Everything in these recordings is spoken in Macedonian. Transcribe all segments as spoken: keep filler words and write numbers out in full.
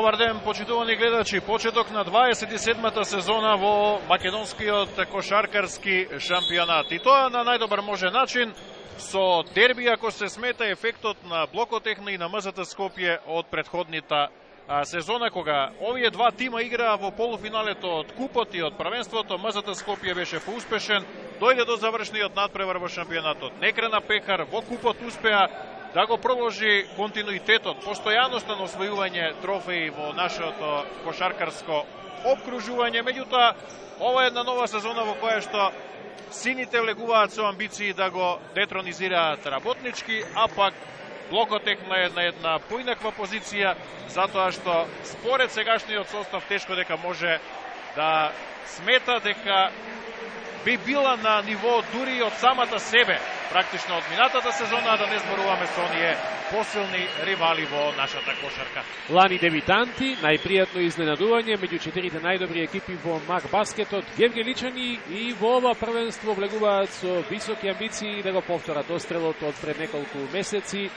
Добар ден, почитувани гледачи. Почеток на дваесет и седмата сезона во македонскиот кошаркарски шампионат. И тоа на најдобар може начин со дерби, ако се смета ефектот на Блокотехна и на МЗТ Скопје од предходната сезона, кога овие два тима играа во полуфиналето од купот и од првенството. МЗТ Скопје беше поуспешен, дојде до завршниот надпревар во шампионатот. Не крена пехар, во купот успеа да го продолжи континуитетот, постојаноста на освојување трофеи во нашето кошаркарско обкружување. Меѓутоа, ова е една нова сезона во која што сините влегуваат со амбиции да го детронизираат работнички, а пак Блокотехна е на една поинаква позиција, затоа што според сегашниот состав тешко дека може да смета дека би била на ниво дури од самата себе, практично од минатата сезона, да не зборуваме со оние посилни ривали во нашата кошарка. Лани дебитанти, најпријатно изненадување меѓу четирите најдобри екипи во Мак баскетот, Гевгеличани и во ова првенство влегуваат со високи амбиции да го повторат острелот од пред неколку месеци.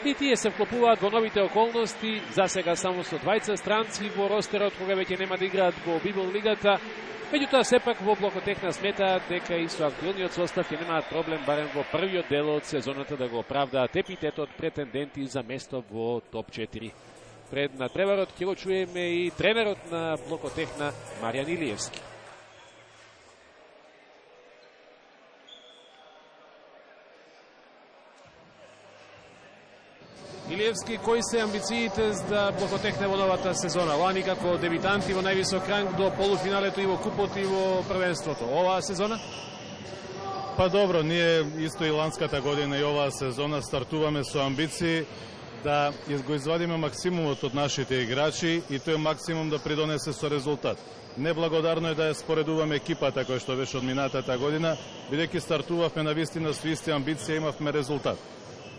И тие се вклопуваат во новите околности, за сега само со двајца странци во ростерот, кога веќе нема да играат во Библ лигата. Меѓутоа, сепак во Блокотехна сметаат дека и со актуелниот состав ќе немаат проблем барем во првиот дел од сезоната да го оправдаат епитетот претенденти за место во топ четири. Пред на треварот ќе го чуеме и тренерот на Блокотехна Маријан Илиевски. Илиевски, кои се амбициите за Блокотехна во новата сезона? Лани како дебитанти во највисок ранг до полуфиналето и во купот и во првенството. Оваа сезона? Па добро, ние исто и ланската година и оваа сезона стартуваме со амбиции да го извадиме максимумот од нашите играчи и тој максимум да придонесе со резултат. Неблагодарно е да ја споредуваме екипата која што беше од минатата година, бидејќи стартувавме на вистина со исти амбиција, имавме резултат.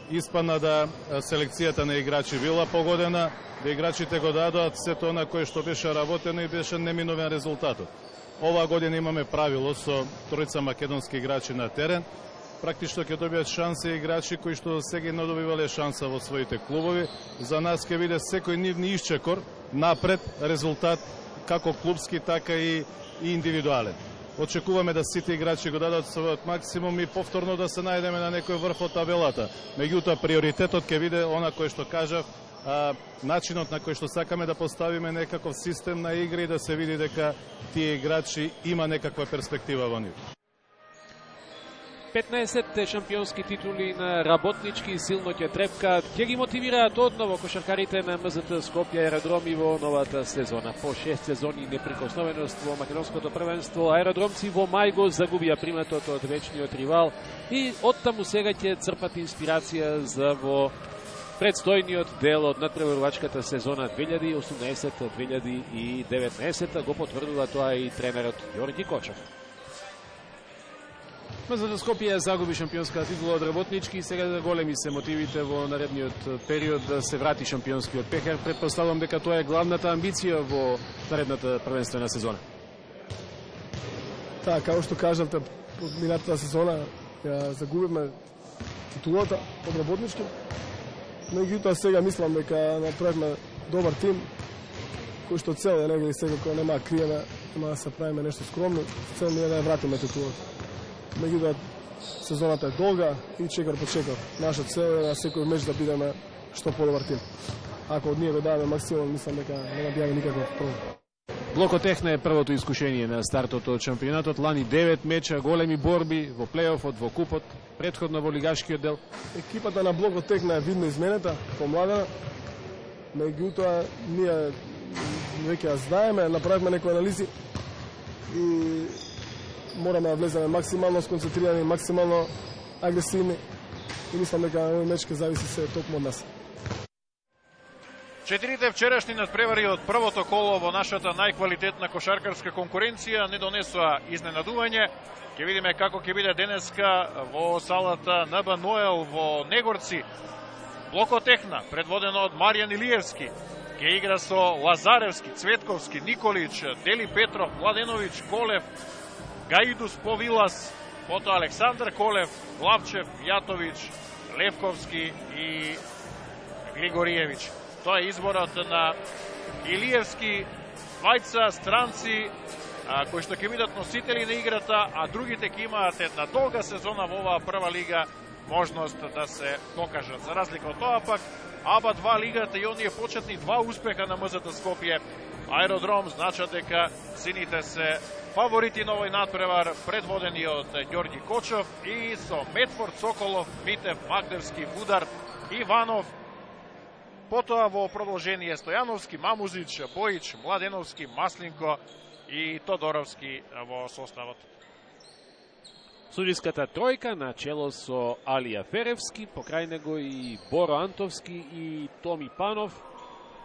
Испадна да селекцијата на играчи била погодена, да играчите го дадоат сето на кое што беше работено и беше неминовен резултатот. Оваа година имаме правило со тројца македонски играчи на терен. Практично ќе добијат шанса играчи кои што сега не добивале шанса во своите клубови. За нас ќе биде секој нивни исчекор напред резултат како клубски, така и, и индивидуален. Очекуваме да сите играчи го дадат својот максимум и повторно да се најдеме на некој врв од табелата. Меѓутоа, приоритетот ќе биде она кој што кажав, а, начинот на кој што сакаме да поставиме некаков систем на игри и да се види дека тие играчи има некаква перспектива во нив. петнаесет шампионски титули на работнички силно ќе трепкаат, ќе ги мотивираат одново кошаркарите на МЗТ Скопје Аеродроми во новата сезона. По шест сезони неприкосновеност во македонското првенство, аеродромци во мај го загубија приматот од вечниот ривал и оттаму сега ќе црпат инспирација за во предстојниот дел од надпреварувачката сезона две илјади и осумнаесет две илјади и деветнаесет. Го потврдува тоа и тренерот Ѓорѓи Кочев. МЗТ Скопје загуби шампионската титула од работнички и сега големи се мотивите во наредниот период да се врати шампионскиот пехар. Предпоставувам дека тоа е главната амбиција во наредната првенствена сезона. Така, како што кажавте, од минатата сезона ја загубивме титулата од работнички. Меѓутоа сега мислам дека направивме добар тим, кој што цел е негде секако нема да криеме, нема да се правиме нешто скромно, цел не е да ја вратиме титулата. Меѓутоа сезоната е долга и чекор по чекор. Наша цел е на секој меч да бидеме што подобар тим. Ако од ние го даваме максимум, мислам дека нема да бијаме никаков проблем. Блокотехна е првото искушение на стартот од шампионатот. Лани девет меча, големи борби во плейофот, во купот, претходно во лигашкиот дел. Екипата на Блокотехна е видно изменета, помладена. Меѓутоа ние веќе ја знаеме, направивме некои анализи и мораме да влеземе максимално сконцентрирани, максимално агресивни и мислам дека овој меч ќе зависи се токму од нас. Четирите вчерашни надпревари од првото коло во нашата најквалитетна кошаркарска конкуренција не донесоа изненадување. Ќе видиме како ќе биде денеска во салата НБ Ноел во Негорци. Блокотехна, предводено од Маријан Илиевски, ќе игра со Лазаревски, Цветковски, Николич, Дели Петров, Младеновиќ, Колев, Гаидус Повилас, потоа Александар Колев, Главчев, Јатовиќ, Левковски и Григориевиќ. Тоа е изборот на Илиевски, двајца странци а, кои што ќе бидат носители на играта, а другите ќе имаат една долга сезона во оваа прва лига можност да се докажат. За разлика од тоа пак, АБА два лигата и оние почетни два успеха на МЗТ Скопје, Аеродром значат дека сините се фаворити на овој надпревар, предводени од Ѓорѓи Кочов и со Метфорд, Соколов, Митев, Магдевски, Вудар, Иванов. Потоа во продолжение Стојановски, Мамузич, Бојич, Младеновски, Маслинко и Тодоровски во составот. Судиската тројка на чело со Алија Феревски, покрај него и Боро Антовски и Томи Панов.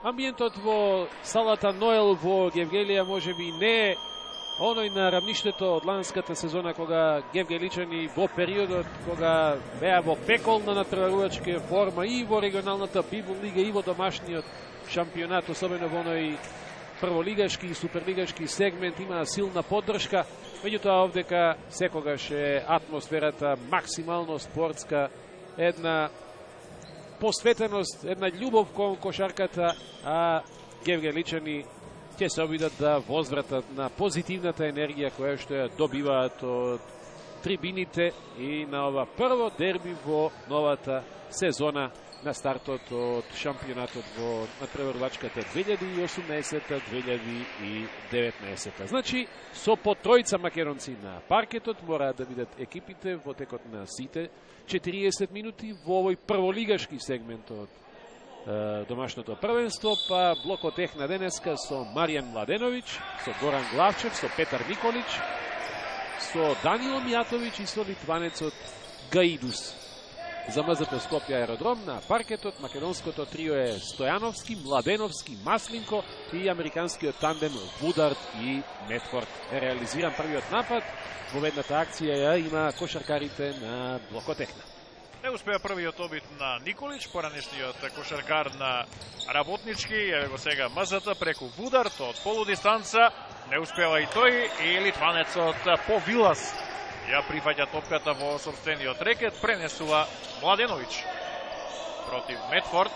Амбиентот во салата Ноел во Гевгелија можеби не е оној на рамништето од ланската сезона, кога гевгеличани во периодот кога беа во пекол на надпреварувачка форма и во регионалната Библ лига и во домашниот шампионат, особено во оној прволигашки и суперлигашки сегмент, има силна поддршка. Меѓутоа овдека секогаш е атмосферата максимално спортска, една посветеност, една љубов кон кошарката, а гевгеличани ќе се обидат да возвратат на позитивната енергија која што ја добиваат од трибините и на ова прво дерби во новата сезона на стартот од шампионатот во надпреварувачката две илјади и осумнаесета - две илјади и деветнаесета. Значи, со по тројца македонци на паркетот мораат да бидат екипите во текот на сите четириесет минути во овој прволигашки сегмент од е, домашното првенство, па блокот ех на денеска со Маријан Младеновиќ, со Горан Главчев, со Петар Николич, со Данило Мијатовиќ и со литванецот Гаидус. За МЗТ Скопје Аеродром на паркетот македонското трио е Стојановски, Младеновски, Маслинко и американскиот тандем Вудард и Метфорд. Е реализиран првиот напад. Победната акција ја има кошаркарите на блокот Техна. Не успеа првиот обид на Николич, поранешниот кошаркар на Работнички, еве го сега МЗТ преку Вудард од полудистанца, не успева и тој, и литванецот Повилас ја прифаќа топката во собствениот рекет, пренесува Младеновиќ против Метфорд.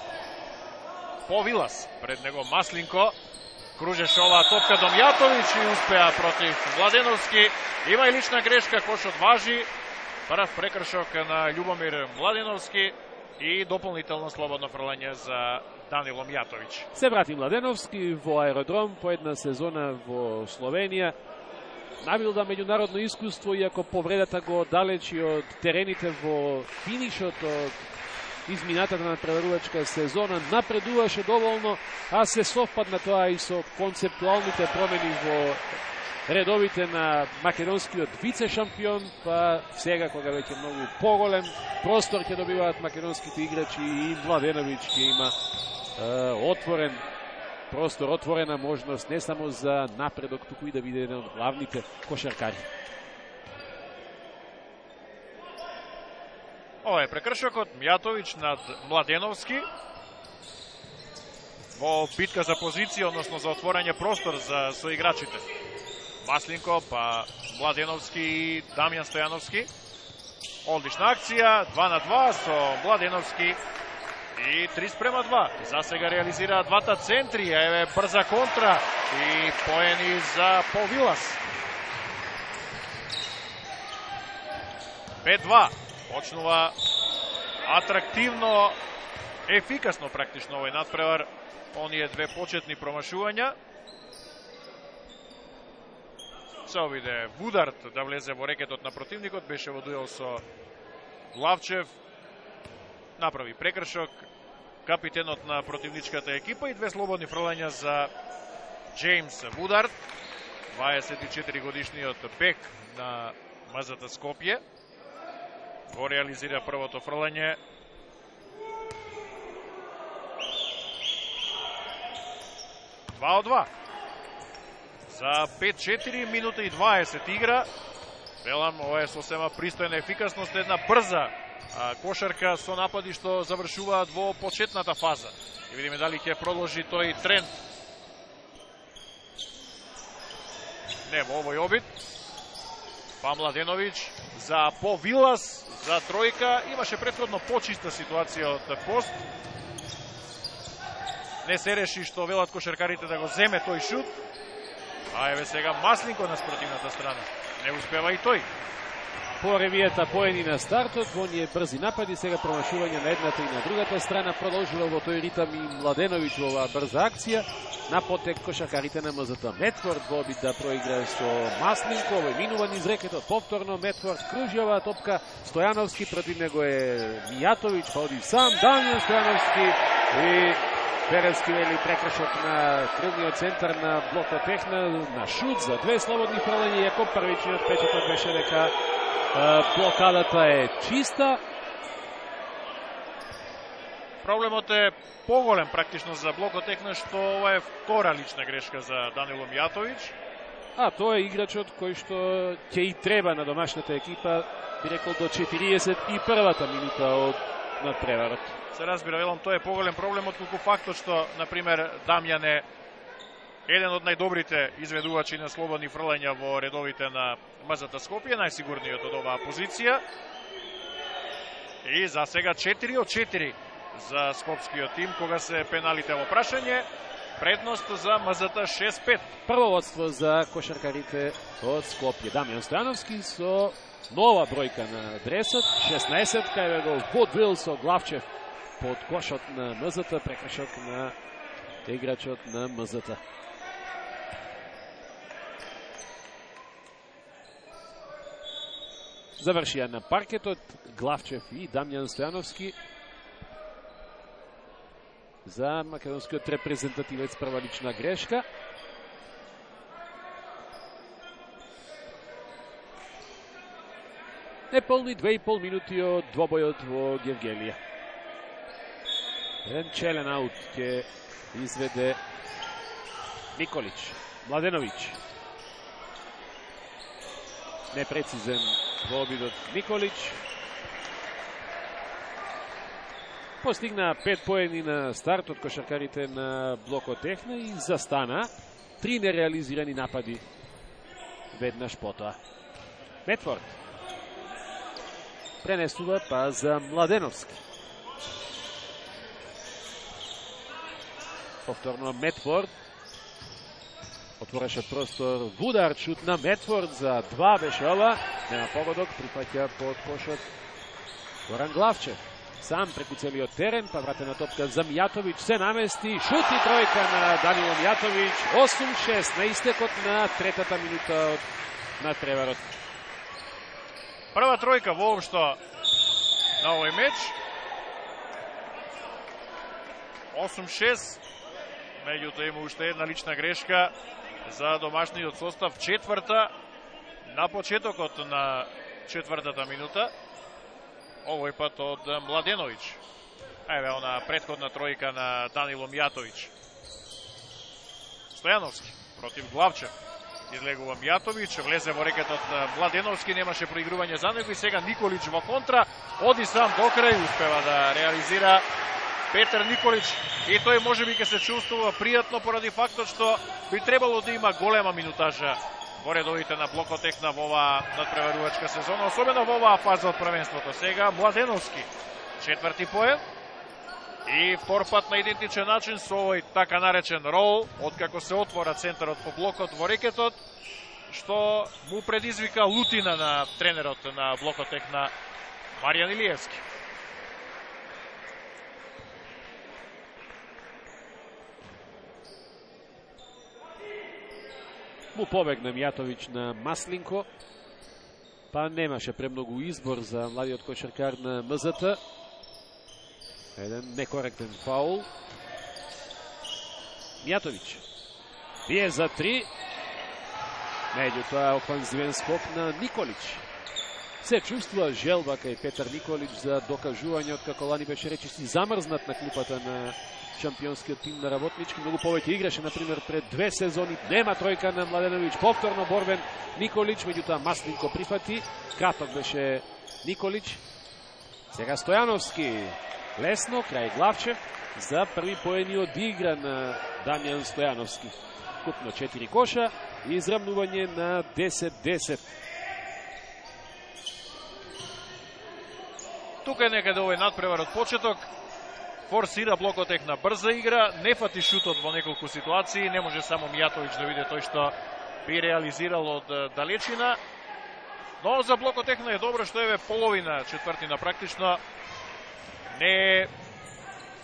Повилас, пред него Маслинко, кружеше оваа топка до Мјатовиќ и успеа против Младеновски. Има и лична грешка, кошот важи, прв прекршок на Љубомир Младеновски и дополнително слободно фрлање за Данило Мјатовиќ. Се врати Младеновски во Аеродром по една сезона во Словенија. Набилда меѓународно искуство, иако повредата го оддалечи од терените во финишот од изминатата на преварувачка сезона, напредуваше доволно, а се совпадна тоа и со концептуалните промени во редовите на македонскиот вице-шампион, па сега кога веќе многу поголем простор ќе добиваат македонските играчи и Младеновиќ ќе има е, отворен простор, отворена можност не само за напредок, туку и да биде еден од главните кошаркари. Ова е прекршокот Мјатовиќ над Младеновски во битка за позиција, односно за отворање простор за соиграчите. Маслинко, па Младеновски и Дамјан Стојановски. Одлична акција, два на два со Младеновски и три спрема два. За сега реализираат двата центри, еве брза контра и поени за Повилас. пет два. Почнува атрактивно, ефикасно практично овој надпревар. Оние две почетни промашувања. Се обиде Вудард да влезе во рекетот на противникот, беше во дуел со Главчев. Направи прекршок капитенот на противничката екипа и две слободни фрлања за Джеймс Вудард, дваесет и четири годишниот бек на МЗТ Скопје. Го реализира првото фрлање. два од два. За пет четири минута и дваесет игра. Велам, ова е сосема пристојна ефикасност, една брза а, кошарка со напади што завршуваат во почетната фаза. И видиме дали ќе продолжи тој тренд. Не во овој обид. Па Младеновиќ за Повилас, за тројка. Имаше претходно почиста ситуација од пост. не се реши што велат кошаркарите да го земе тој шут. А еве сега Масленко на спротивната страна. Не успева и тој. По ревијата поени на стартот, во оние брзи напади, сега промашување на едната и на другата страна, продолжува во тој ритам и Младеновиќ во оваа брза акција. На потек кошаркарите на МЗТ. Метфорд во обид да проигра со Масленко, овој минува низ рекетот, повторно Метфорд кружи оваа топка, Стојановски, против него е Мијатовиќ, па оди сам Дамјан Стојановски и Перевски вели прекршок на крилниот центар на блокот Техна, на шут за две слободни фрлања, иако првичниот печаток беше дека блокадата е чиста. Проблемот е поголем практично за блокот Техна, што ова е втора лична грешка за Данило Мијатовиќ. А тоа е играчот кој што ќе и треба на домашната екипа, би рекол до четириесет и првата минута од надпреварот. Се разбира, велам, тоа е поголем проблем, отколку фактот што, например, Дамјан е еден од најдобрите изведувачи на слободни фрлања во редовите на МЗТ Скопје, најсигурниот од оваа позиција. И за сега четири од четири за скопскиот тим, кога се пеналите во прашање, предност за МЗТ шест пет. Прво водство за кошаркарите од Скопје. Дамјан Стојановски со нова бројка на дресот, шеснаесет, кај го Водвил со Главчев под кошот на МЗТ, прекршок на играчот на МЗТ. Завршија на паркетот Главчев и Дамјан Стојановски за македонскиот репрезентативец, прва лична грешка. Неполни две и пол минути од двобојот во Гевгелија. Еден челен аут ќе изведе Николич. Младеновиќ. Непрецизен во обидот Николич. Постигна пет поени на старт од кошаркарите на блокот Техна и застана три нереализирани напади веднаш потоа. Метфорд пренесува па за Младеновски. Повторно Метфорд отвореше простор Вудар, шут на Метфорд за два беше ова. Нема погодок, прифаќа под кошот Горан Главчев. Сам преку целиот терен, па вратена топка за Мијатовиќ, се намести, шут и тројка на Данило Мијатовиќ, осум шест на истекот на третата минута од надпреварот. Прва тројка воопшто на овој меч. осум шест. Меѓутоа има уште една лична грешка за домашниот состав, четврта на почетокот на четвртата минута. Овој пат од Младеновиќ. Еве она претходна тројка на Данило Мијатовиќ. Стојановски против Главчев. Излегува Мијатовиќ, влезе во рекетот Младеновски, немаше проигрување за него и сега Николич во контра, оди сам до крај, успева да реализира Петар Николич и тој можеби ќе се чувствува пријатно поради фактот што би требало да има голема минутажа во редовите на блокот Техна во оваа надпреварувачка сезона, особено во оваа фаза од првенството. Сега Младеновски, четврти поен и втор пат на идентичен начин со овој така наречен рол, откако се отвора центарот по блокот во рекетот, што му предизвика лутина на тренерот на блокот Техна Маријан Илиевски. Му побегна Мијатовиќ на Масленко, па немаше премногу избор за младиот кошаркар на МЗТ. Еден некоректен фаул. Мијатовиќ бие за три. Меѓутоа офанзивен скок на Николич. Се чувствува желба кај Петар Николич за докажување, откако лани беше речиси замрзнат на клупата на шампионскиот тим на Работнички. Многу повеќе играше, например, пред две сезони. Нема тројка на Младеновиќ. Повторно борбен Николич, меѓутоа Масленко прифати. Краток беше Николич. Сега Стојановски. Лесно, крај Главчев. За први поени од игра на Дамјан Стојановски. Купно четири коша и израмнување на десет десет. Тука е некаде овој надпревар од почеток. форсира Блокотехна брза игра, не фати шутот во неколку ситуации, не може само Мијатовиќ да биде тој што би реализирал од далечина. Но за Блокотехна е добро што еве половина четвртина практично не е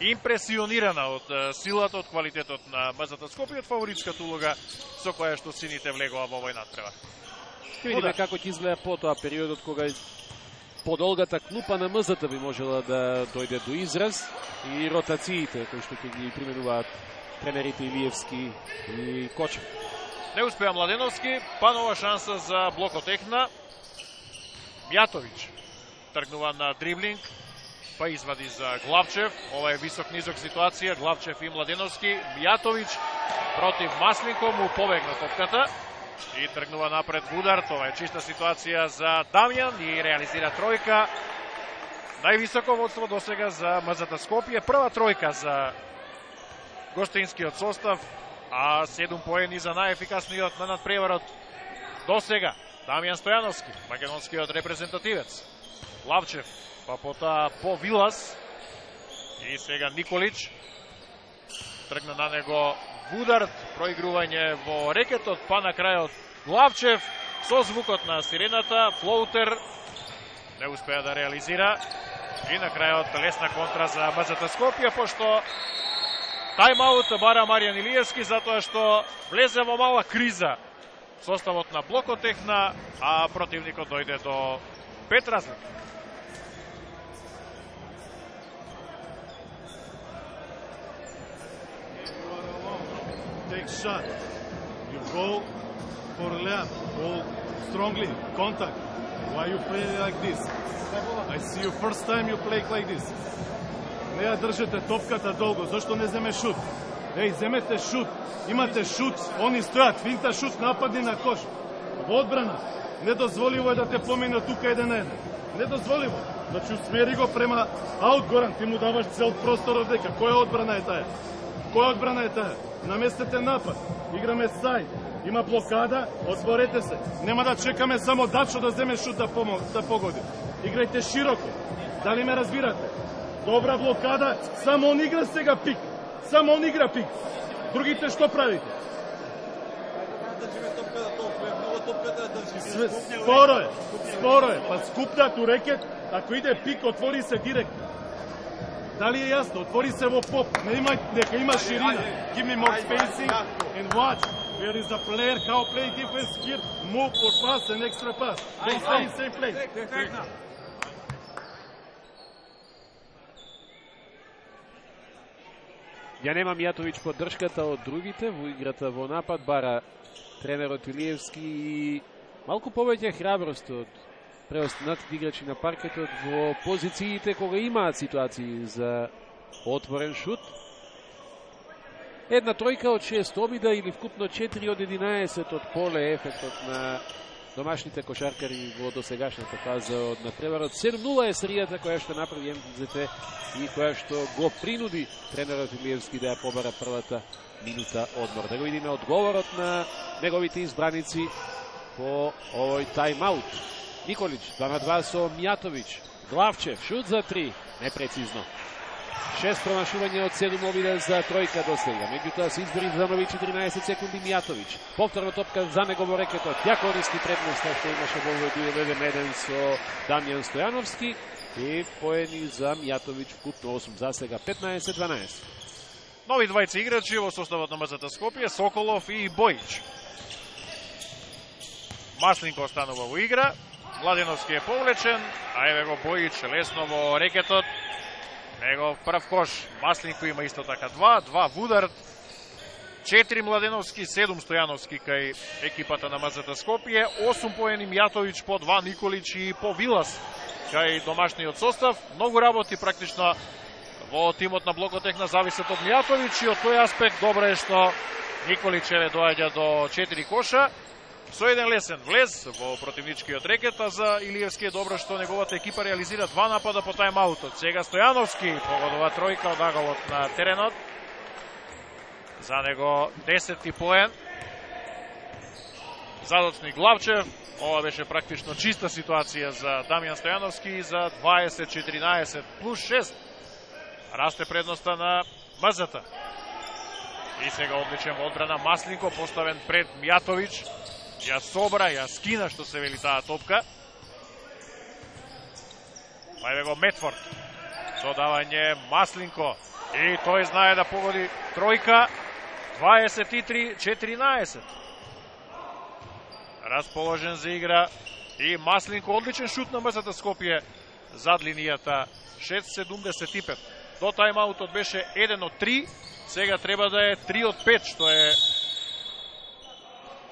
импресионирана од силата, од квалитетот на МЗТ Скопје, од фаворитската улога со која што сините влегува во овој надпревар. Ќе видиме како ќе изгледа потоа периодот кога подолгата клупа на МЗТ би можела да дојде до израз и ротациите кои што ќе ги применуваат тренерите Илиевски и Кочев. Не успеа Младеновски, па нова шанса за Блокотехна. Мијатовиќ тргнува на дриблинг, па извади за Главчев. Ова е висок-низок ситуација, Главчев и Младеновски. Мијатовиќ против Маслинко му побегна топката и тргнува напред Вудар. Ова е чиста ситуација за Дамјан и реализира тројка. Највисоко водство досега за МЗТ Скопје. Прва тројка за гостинскиот состав, а седум поени за најефикасниот на надпреварот досега. Дамјан Стојановски, македонскиот репрезентативец. Лавчев, па потоа по Вилас и сега Николич. Тргна на него Вудард, проигрување во рекетот, па на крајот Главчев со звукот на сирената, флоутер, не успеа да реализира и на крајот лесна контра за МЗТ Скопје, пошто тајмаут бара Маријан Илиевски затоа што влезе во мала криза составот на Блокотехна, а противникот дојде до пет разлика. Take shot. You go for left. Go strongly. Contact. Why you play like this? I see you first time you play like this. Не ја држете топката долго. Зошто не земе шут? Еј, земете шут. Имате шут. Они стојат. Финта шут. Нападни на кош. Во одбрана. Недозволиво е да те помине тука еден на еден. Недозволиво. Значи усмери го према аут Горан. Ти му даваш цел простор од дека. Која одбрана е таа? Која одбрана е таа? Наместете напад. Играме сајд. Има блокада. Отворете се. Нема да чекаме само Дачо да земе шут да, помог, да погоди. Играјте широко. Дали ме разбирате? Добра блокада. Само он игра сега пик. Само он игра пик. Другите што правите? Споро е. Споро е. Па скупнат у рекет. Ако иде пик, отвори се директно. Дали е јасно? Отвори се во поп. Не има, нека има ширина. Give me more spacing and watch. Where is the player? How play defense here? Move or pass and extra pass. Don't stay in same place. Ја нема Мијатовиќ поддршката од другите во играта во напад, бара тренерот Илиевски и малку повеќе храброст од преостанатите играчи на паркетот во позициите кога имаат ситуации за отворен шут. Една тројка од шест обида или вкупно четири од единаесет од поле ефектот на домашните кошаркари во досегашната фаза од надпреварот. седум нула е серијата која што направи Ем Зет Те и која што го принуди тренерот Илиевски да ја побара првата минута одмор. Да го видиме одговорот на неговите избраници по овој тајмаут. Николич, два на два со Мијатовиќ. Главчев, шут за три, непрецизно. Шест промашување од седум обида за тројка до сега. Меѓутоа се избори за нови четиринаесет секунди Мијатовиќ. Повторна топка за него во рекетот. Ја користи предноста што имаше во овој еден еден со Дамјан Стојановски и поени за Мијатовиќ вкупно осум за сега, петнаесет дванаесет. Нови двајца играчи во составот на МЗТ Скопје, Соколов и Бојич. Маслинко останува во игра. Младеновски е повлечен, а еве го Бојич лесно во рекетот. Негов прв кош. Маслинко има исто така два, два Вудард, четири Младеновски, седум Стојановски кај екипата на МЗТ Скопје, осум поени Мијатовиќ, по два Николич и по Вилас кај домашниот состав. Многу работи практично во тимот на Блокотехна зависат од Мијатовиќ и од тој аспект добро е што Николич еве доаѓа до четири коша. Со еден лесен влез во противничкиот рекет, а за Илиевски е добро што неговата екипа реализира два напада по тајмаутот. Сега Стојановски погодува тројка од аголот на теренот. За него десети поен. Задоцни Главчев. Ова беше практично чиста ситуација за Дамјан Стојановски за дваесет четиринаесет плюс шест. расте предноста на МЗТ. И сега одличен во одбрана Маслинко, поставен пред Мјатовиќ. Ја собра, ја скина, што се вели таа топка. Па го Медфорд. Додавање Маслинко. И тој знае да погоди тројка. дваесет и три четиринаесет. Расположен за игра и Маслинко, одличен шут на МЗТ Скопје зад линијата, шест седумдесет и пет. До тајмаутот беше еден од три, сега треба да е три од пет, што е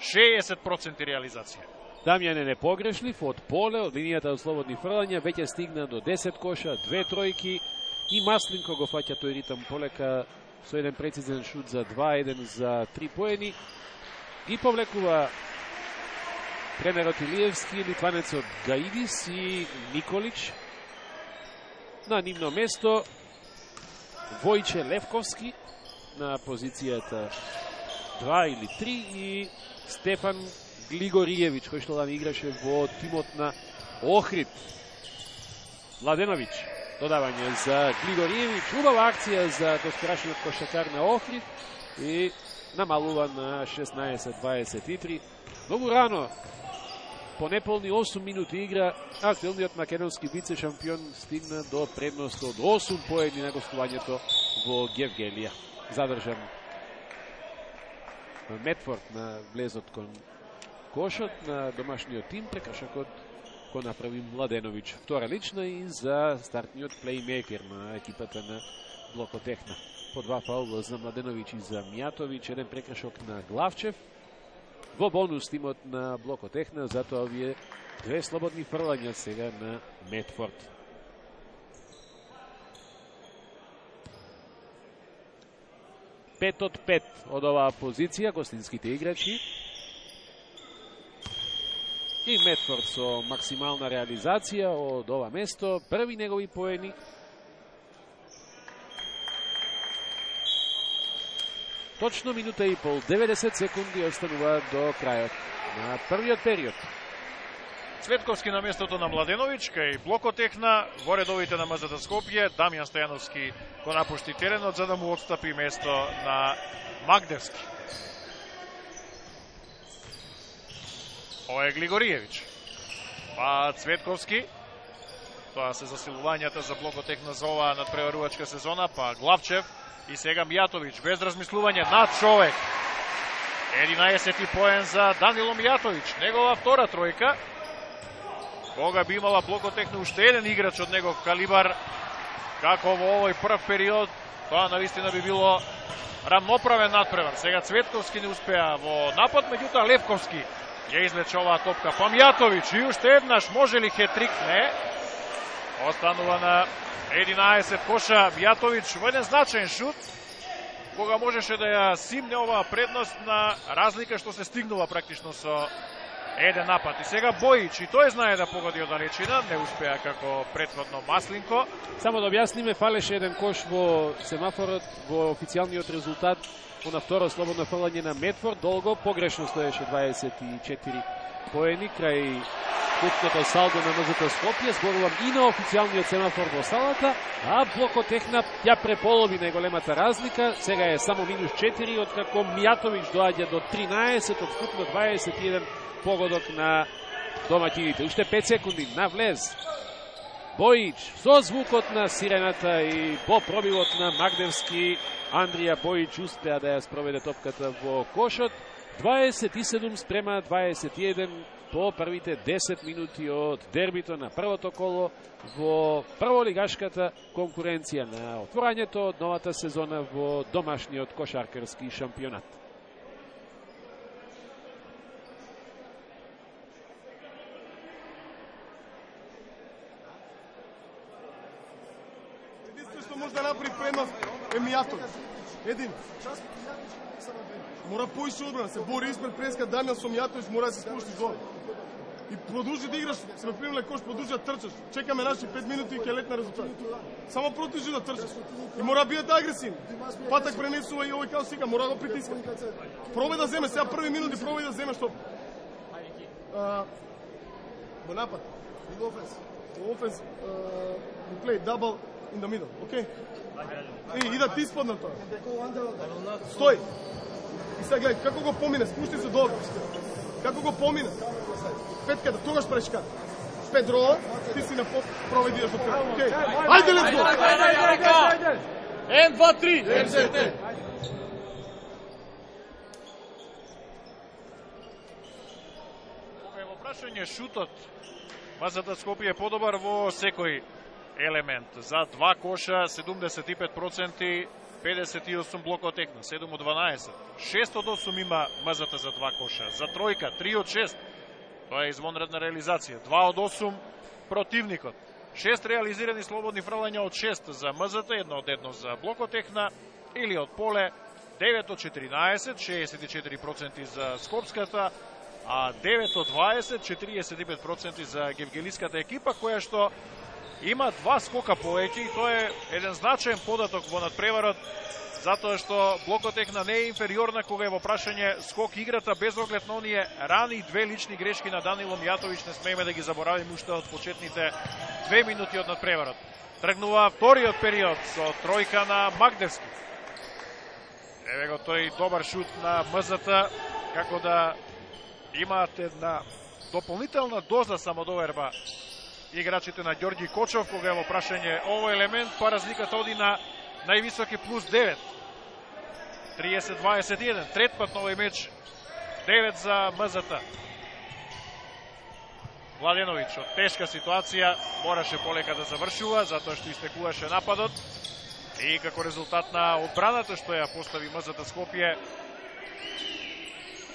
шеесет проценти реализација. Дамјан е непогрешлив од поле, од линијата од слободни фрлања, веќе стигна до десет коша, две тројки и Маслинко го фаќа тој ритам полека со еден прецизен шут за два еден за три поени. Ги повлекува тренерот Илиевски, литванецот Гаидис и Николич. На нивно место Војче Левковски на позицијата два или три и Стефан Глигориевиќ, кој што лани играше во тимот на Охрид. Младеновиќ, додавање за Глигориевиќ, убава акција за доскорашниот кошакар на Охрид и намалува на шеснаесет дваесет и три. Многу рано, по неполни осум минути игра, актуелниот македонски вице шампион стигна до предност од осум поени на гостувањето во Гевгелија. Задржан Медфорд на влезот кон кошот на домашниот тим, прекашакот го направи Младеновиќ. Втора лична и за стартниот плеймейкер на екипата на Блокотехна. По два фаула за Младеновиќ и за Мјатовиќ, еден прекашок на Главчев. Во бонус тимот на Блокотехна, затоа овие две слободни фрлања сега на Медфорд. Пет од пет од оваа позиција, гостинските играчи. И Медфорд со максимална реализација од ова место, први негови поени. Точно минута и пол, деветдесет секунди остануваат до крајот на првиот период. Цветковски на местото на Младеновиќ, кај Блокотехна, во редовите на МЗТ Скопје, Дамјан Стојановски го напушти теренот за да му отстапи место на Магдевски. Ова е Глигориевиќ. Па Цветковски, тоа се засилувањата за Блокотехна за оваа надпреварувачка сезона, па Главчев и сега Мјатовиќ, без размислување, над човек. единаесети поен за Данило Мјатовиќ, негова втора тројка. Кога би имала Блокотехна уште еден играч од негов калибар, како во овој прв период, тоа навистина би било рамноправен надпревар. Сега Цветковски не успеа во напад, меѓутоа Левковски ја извлече оваа топка. Па Мјатовиќ и уште еднаш, може ли хетрик? Не. Останува на единаесет коша. Мјатовиќ во еден значаен шут, кога можеше да ја симне оваа предност на разлика што се стигнува практично со еден напад. И сега Бојич, и тој знае да погоди од далечина, не успеа како претходно Маслинко. Само да објасниме, фалеше еден кош во семафорот, во официјалниот резултат, на второ слободно фрлање на Медфорд, долго погрешно стоеше дваесет и четири поени крај кутното салдо на МЗТ Скопје. Зборувам и на официјалниот семафор во салата, а Блокотехна ја преполови најголемата разлика. Сега е само минус четири, откако Мјатовиќ доаѓа до тринаесет од вкупно дваесет и еден погодок на домаќините. Уште пет секунди на влез. Бојич со звукот на сирената и по пробивот на Магдевски, Андрија Бојич успеа да ја спроведе топката во кошот. дваесет и седум спрема дваесет и еден по првите десет минути од дербито на првото коло во прволигашката конкуренција на отворањето од новата сезона во домашниот кошаркарски шампионат. Што може да направи предност е Мјатовиќ. Един. Мора поише одбрана, се бори испред преска Дамјан со Мјатовиќ, мора да се спушти зор. И продолжи да играш, се ме примиле кош, продолжи да трчаш. Чекаме наши пет минути и ќе летна резултат. Само продолжи да трчаш. И мора да биете агресивни. Патак пренесува и овој као сика, мора да го притиска. Пробај да земе, сега први минути пробај да земе што. Во напад, во офенс. Во офенс, we play double in the middle, okay? И идат исподно тоа. Стој. И сега гледај, како го помине, спушти се долу. Како го помине. Петката, тогаш пречка. Педро, ти си на поп, проведиш до пет. Океј. Ајде, летс го. Ен, два, три. Во прашање шутот, МЗТ Скопје е подобар во секој елемент. За два коша седумдесет и пет проценти, педесет и осум блокотекна, седум од дванаесет. шест од осум има МЗТ за два коша. За тројка, три од шест. Тоа е извонредна реализација. два од осум противникот. шест реализирани слободни фрлања од шест за МЗТ, едно од едно за блокотехна или од поле, девет од четиринаесет, шеесет и четири проценти за Скопската, а девет од дваесет, четириесет и пет проценти за гевгелиската екипа, која што има два скока повеќе и тоа е еден значаен податок во надпреварот, затоа што блокотехна не е инфериорна кога е во прашање скок играта, без оглед на оние рани две лични грешки на Данило Мијатовиќ, не смееме да ги заборавиме уште од почетните две минути од надпреварот. Тргнува вториот период со тројка на Магдевски. Еве го тој добар шут на МЗТ, како да имаат една дополнителна доза самодоверба играчите на Ѓорѓи Кочов, кога е во прашање овој елемент, па разликата оди на највисоки плюс девет. триесет дваесет и еден. Трет пат на овој меч, девет за МЗТ. Младеновиќ од тешка ситуација мораше полека да завршува, затоа што истекуваше нападот. И како резултат на одбраната што ја постави МЗТ Скопје,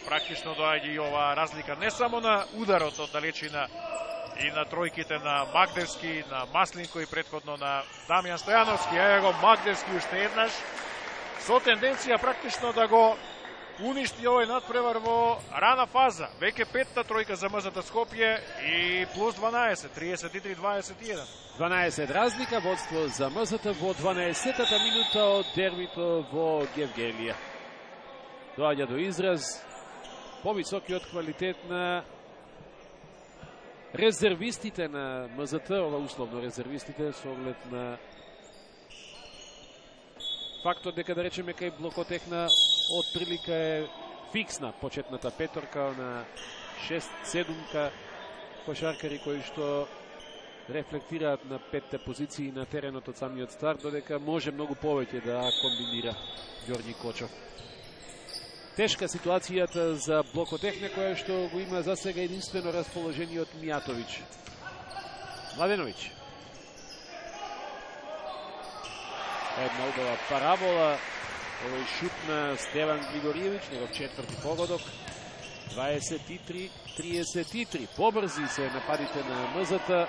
практично доаѓа и ова разлика не само на ударот од далечина и на тројките на Магдевски, на Маслинко и претходно на Дамјан Стојановски. Еве го Магдевски уште еднаш со тенденција практично да го уништи овој надпревар во рана фаза. Веќе петта тројка за МЗТ Скопје и плюс дванаесет, триесет и три дваесет и еден. дванаесет разлика, водство за МЗТ во дванаесеттата минута од дербито во Гевгелија. Доаѓа до израз повисокиот квалитет на резервистите на МЗТ, ова условно резервистите, со оглед на фактот дека, да речеме, кај блокотехна од прилика е фиксна почетната петорка на шест седумка кошаркари кои што рефлектираат на петте позиции на теренот од самиот старт, додека може многу повеќе да комбинира Ѓорѓи Кочов. Тешка ситуацијата за блокотехна, која што го има за сега единствено расположениот Мијатовиќ. Младеновиќ. Една убава парабола, овој шут на Стеван Григориевиќ, негов четврти погодок. дваесет и три триесет и три. Побрзи се нападите на МЗТ.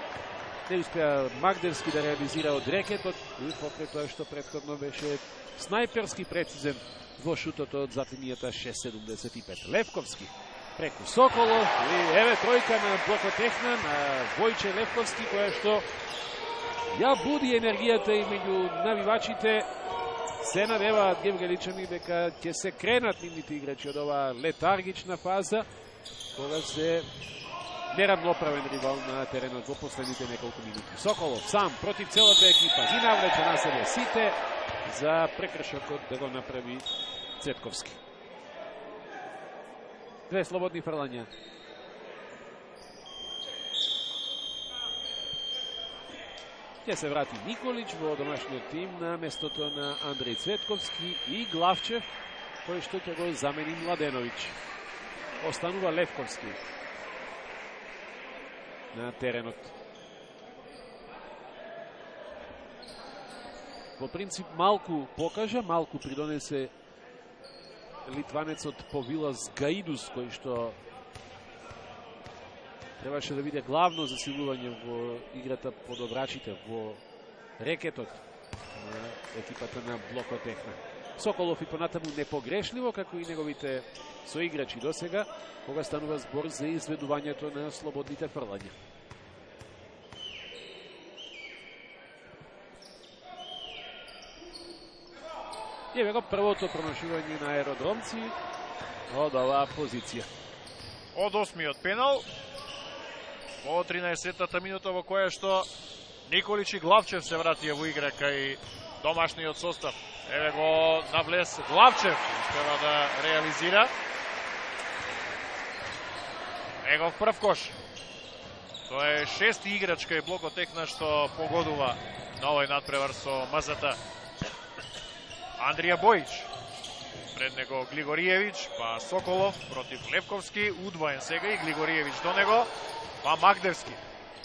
Не успеа Магдевски да реализира од рекетот, и покрај тоа што претходно беше снајперски прецизен во шутот од зад линијата шест седумдесет и пет. Левковски преку Соколов и еве тројка на блокотехна на Војче Левковски, која што ја буди енергијата и меѓу навивачите. Се надеваат гевгеличани дека ќе се кренат нивните играчи од оваа летаргична фаза, кога се неравноправен ривал на теренот во последните неколку минути. Соколов сам против целата екипа ги навлече на себе сите за прекршокот да го направи Цветковски. Две слободни фрлања. Ќе се врати Николич во домашниот тим на местото на Андреј Цветковски и Главчев, кој што ќе го замени Младеновиќ. Останува Левковски на теренот. Во принцип малку покажа, малку придонесе литванецот Повилас Гаидус, кој што требаше да биде главно засилување во играта под обрачите, во рекетот на екипата на блокотехна. Соколов и понатаму непогрешливо, како и неговите соиграчи до сега, кога станува збор за изведувањето на слободните фрлања. Еве го првото промашување на аеродромци од оваа позиција. Од осмиот пенал, во тринаесеттата минута во која што Николич и Главчев се вратија во игра кај домашниот состав. Еве го навлез Главчев, успева да реализира. Негов прв кош. Тоа е шести играчка и Блокотехна што погодува на овој надпревар со МЗТ. Андрија Бојич, пред него Глигориевич, па Соколов против Левковски, удвоен сега и Глигориевич до него, па Магдевски.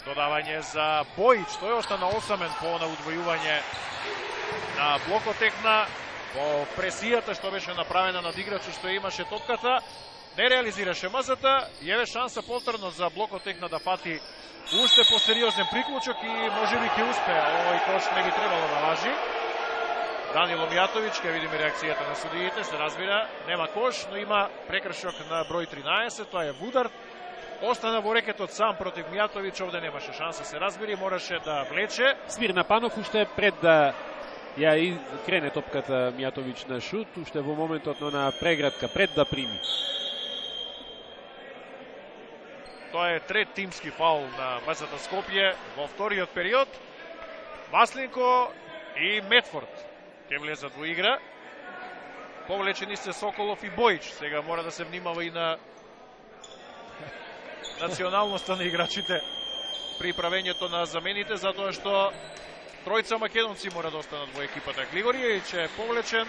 Додавање за Бојич, тој остана осамен по на удвојување на Блокотехна, по пресијата што беше направена над играчот што имаше топката. Не реализираше МЗТ, еве шанса повторно за Блокотехна да фати уште посериозен приклучок и можеби ќе успее. Овој кош не би требало да важи. Данило Мијатовиќ, ќе видиме реакцијата на судиите, се разбира, нема кош, но има прекршок на број тринаесет, тоа е Вудар. Остана во рекетот сам против Мијатовиќ, овде немаше шанса, се разбери, мораше да влече. Смирна Панов уште пред да ја и крене топката Мијатовиќ на шут, уште во моментот на преградка, пред да прими. Тоа е трет тимски фаул на МЗТ Скопје во вториот период. Маслинко и Метфорд ќе влезат во игра. Повлечени се Соколов и Бојич. Сега мора да се внимава и на националноста на играчите при правењето на замените, затоа што тројца македонци мора да останат во екипата. Глигориевич е повлечен,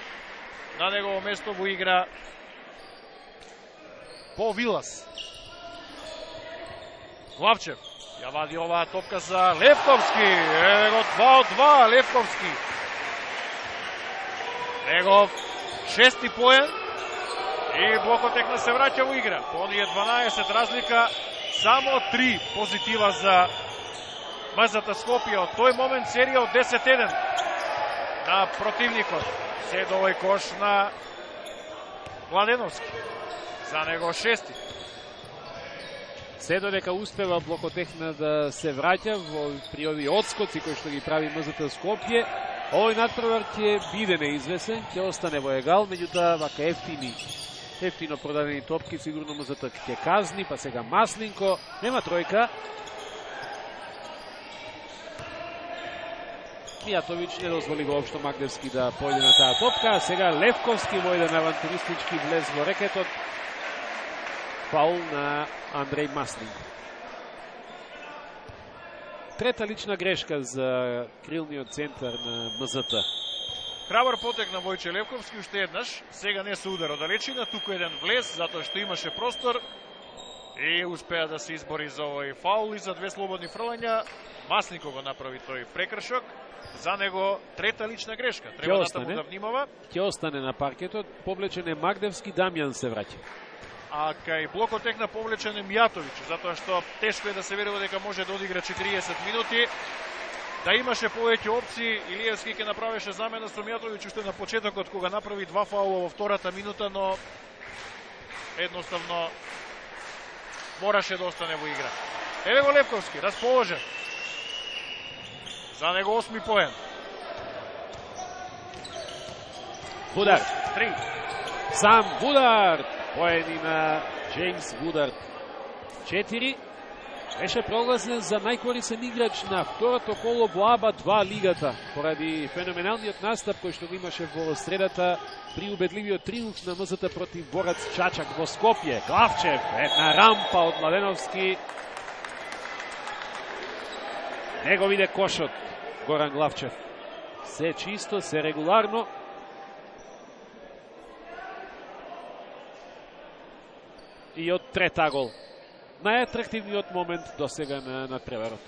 на негово место во игра По Вилас. Главчев ја вади оваа топка за Левковски. Еве го два од два Левковски. Негов шести поен и Блокотехна се враќа во игра. По оние дванаесет разлика, само три позитива за МЗТ Скопје. Од тој момент серија од десет еден на противникот. Се до овој кош на Младеновски. За него шести. Се додека успева Блокотехна да се враќа во при овие одскоци кои што ги прави МЗТ Скопје, овој надпревар ќе биде неизвесен, ќе остане во егал, меѓутоа вака ефтини, ефтино продадени топки сигурно МЗТ ќе казни, па сега Маслинко, нема тројка. Мијатовиќ не дозволи воопшто Магдевски да појде на таа топка, сега Левковски во еден авантуристички влез во рекетот. Фаул на Андреј Маслинко. Трета лична грешка за крилниот центар на МЗТ. Храбар потек на Војче Левковски уште еднаш, сега не со удар од далечина, туку еден влез, затоа што имаше простор и успеа да се избори за овој фаул и за две слободни фрлања. Маслинко го направи тој прекршок, за него трета лична грешка. Треба натаму да внимава. Ќе остане на паркетот, повлечен е Магдевски, Дамјан се враќа. А кај Блокотехна повлечен е Мијатовиќ, затоа што тешко е да се верува дека може да одигра четириесет минути. Да имаше повеќе опции, Илиевски ќе направеше замена со Мијатовиќ уште на почетокот кога направи два фаула во втората минута, но едноставно мораше да остане во игра. Еве го Левковски, расположен. За него осми поен. Вудар. Три. Сам Вудар. Поени на Джеймс Вудар. Четири. Беше прогласен за најкорисен играч на второто коло во АБА два лигата, поради феноменалниот настап кој што го имаше во средата при убедливиот триумф на МЗТ против Борац Чачак во Скопје. Главчев, една рампа од Младеновски. Него виде кошот Горан Главчев. Се чисто, се регуларно. И од трета гол. Најатрактивниот момент до сега на надпреварот.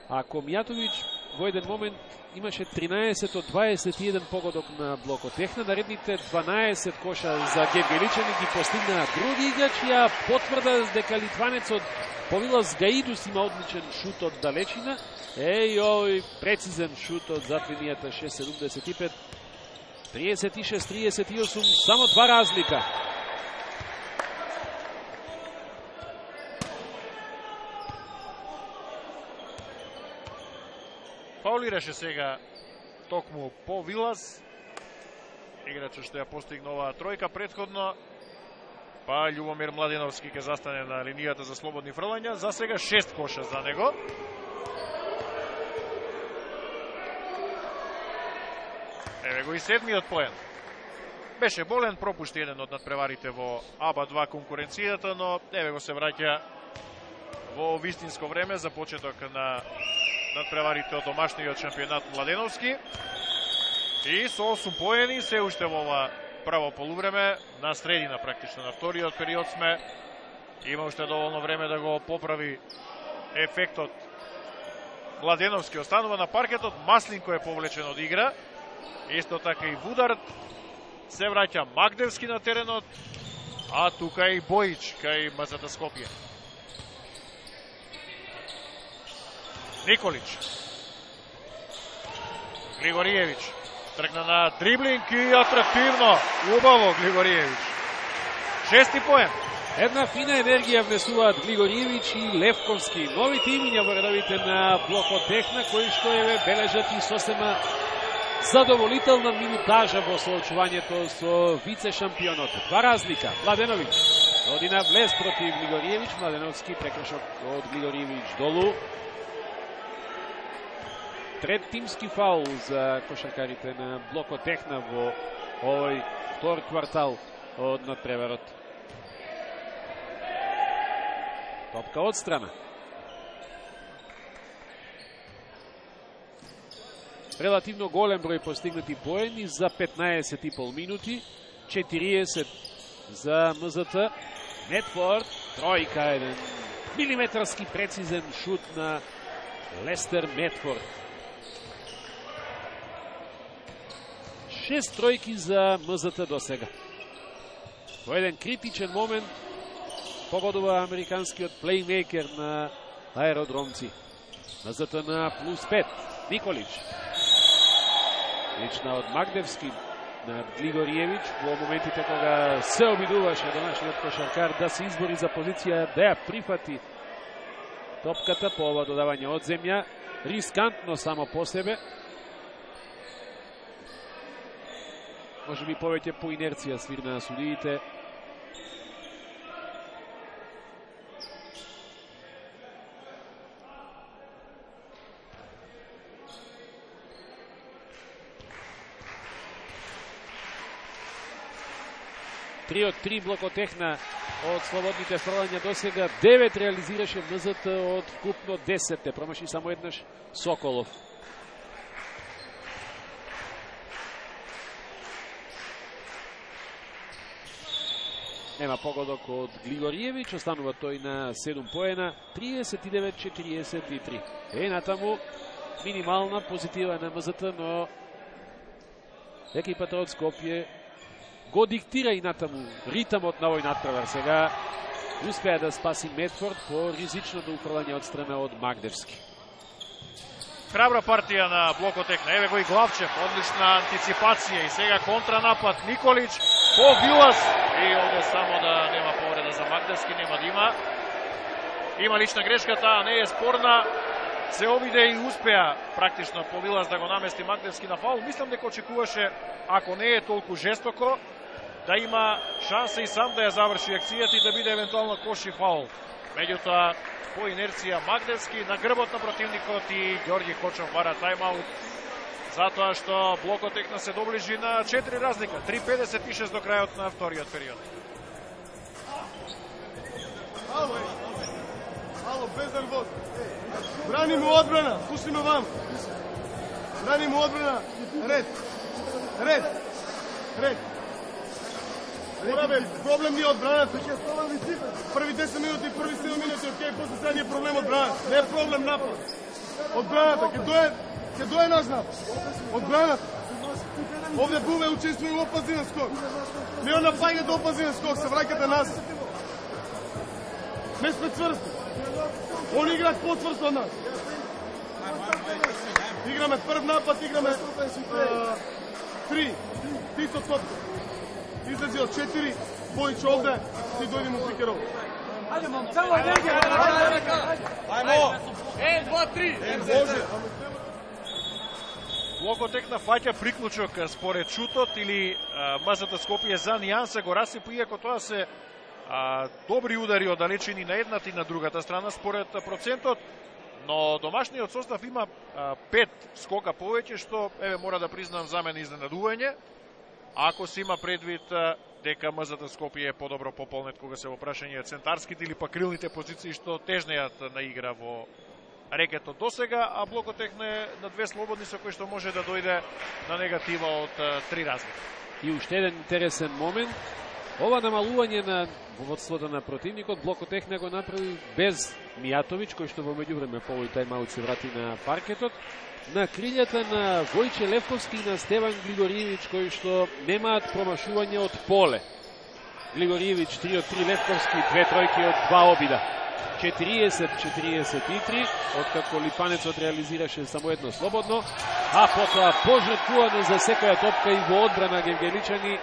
Ако Мијатовиќ во еден момент имаше тринаесет од дваесет и еден погодок на Блокотехна, наредните дванаесет коша за Гевгеличани ги постигнаа други играчи, а потврда дека литванецот По Вилас Гаидус има одличен шут од далечина. Еј, овој прецизен шут од зад линијата шест седумдесет и пет. триесет и шест триесет и осум, само два разлика. Фаулираше сега токму По Вилас. Играчот што ја постигна оваа тројка претходно. па Љубомир Младеновски ќе застане на линијата за слободни фрлања. За сега шест коша за него. Еве го и седмиот поен. Беше болен, пропушти еден од надпреварите во А Б А два конкуренцијата, но еве го се враќа во вистинско време за почеток на надпреварите од домашниот шампионат Младеновски. И со осум поени се уште во ова прво полувреме, на средина практично на вториот период сме. Има уште доволно време да го поправи ефектот. Младеновски останува на паркетот, Маслинко е повлечен од игра. Исто така и Вудард. Се враќа Магдевски на теренот, а тука и Бојич кај М З Т Скопје. Николич. Глигориевич. Тргна на дриблинг и атрактивно. Убаво Глигориевич. Шести поен. Една фина енергија внесуваат Глигориевич и Левковски. Новите имиња во редовите на блокот Техна, кои што еве бележат и сосема задоволителна минутажа во соочувањето со вице-шампионот. Два разлика. Младеновиќ одина влез против Глигориевич. Младеновски прекршок од Глигориевич долу. Трет тимски фаул за кошаркарите на блокот Техна во овој втор квартал од надпреварот. Топка од страна. Релативно голем број постигнати поени за петнаесет и пол минути. четириесет за М З Т. Медфорд, тројка, еден милиметарски прецизен шут на Лестер Медфорд. Шест тројки за М З Т до сега. Во еден критичен момент погодува американскиот плеймейкер на аеродромци. М З Т на плюс пет. Николич. Лична од Магдевски на Глигориевич во моментите кога се обидуваше домашниот кошаркар да се избори за позиција да ја прифати топката по ова додавање од земја. Рискантно само по себе. Може би повеќе по инерција свирна на судиите. три од три блокот Техна од слободните фрлања до сега. девет реализираше М З Т од вкупно десет. Промаши само еднаш Соколов. Нема погодок од Глигориевич, останува тој на седум поена, триесет и девет четириесет и три. Е, натаму минимална позитива на М З Т, но екипата од Скопје го диктира и натаму ритамот на овој надпревар. Сега успеа да спаси Медфорд по ризичното уфрлање од страна од Магдевски. Храбра партија на блокот Техна. Еве го и Главчев, одлична антиципација и сега контранапад Николич по Вилас. И овде само да нема повреда за Магдевски, нема да има. Има лична грешка, таа не е спорна. Се обиде и успеа практично по Вилас да го намести Магдевски на фаул. Мислам дека очекуваше, ако не е толку жестоко, да има шанса и сам да ја заврши акцијата и да биде евентуално кош и фаул. Меѓутоа, по инерција Магдевски на грбот на противникот и Ѓорѓи Кочов бара тајмаут, затоа што блокот Техна се доближи на четири разлика, три педесет и шест до крајот на вториот период. Ало, ало, без нервоз. Бранимо одбрана, слушаме вам. Бранимо одбрана, ред, ред, ред. Мораме, проблем ни одбраната. Први десет минути, први седум минути, окей, после сега ни е проблем одбраната. Не е проблем напад. Одбраната, ќе дое, ќе дое наш напад. Одбраната. Овде Буве учествува во опазинен скок. Леон напаѓа до опазинен скок, се враќате нас. Не сме цврсти. Они играат по-цврсто од нас. Играме прв напад, играме три. Ти со топка. Излези од четири, Бојич овде, си дојди му пикеров. Ајде, мам, цела енергија. Ајмо. Е, два, три. Може. Блокот Техна фаќа приклучок според шутот или М З Т Скопје за нијанса го расипа, иако тоа се а, добри удари од далечини на едната и на другата страна според процентот, но домашниот состав има а, пет скока повеќе, што еве мора да признам за мене изненадување, ако се има предвид а, дека МЗТ Скопје е подобро пополнет кога се во прашање центарските или па крилните позиции што тежнеат на игра во рекетот досега, а Блокотехна е на две слободни со кои што може да дојде на негатива од а, три разлика. И уште еден интересен момент, ова намалување на водството на противникот, Блокотехна го направи без Мијатовиќ, кој што во меѓувреме по овој тајмаут се врати на паркетот, на крилјата на Војче Левковски и на Стеван Глигориевиќ, кои што немаат промашување од поле. Глигориевиќ три од три, Левковски две тројки од два обида. четириесет четириесет и три, откако Липанецот реализираше само едно слободно, а потоа пожртвувано за секоја топка и во одбрана гевгеличани.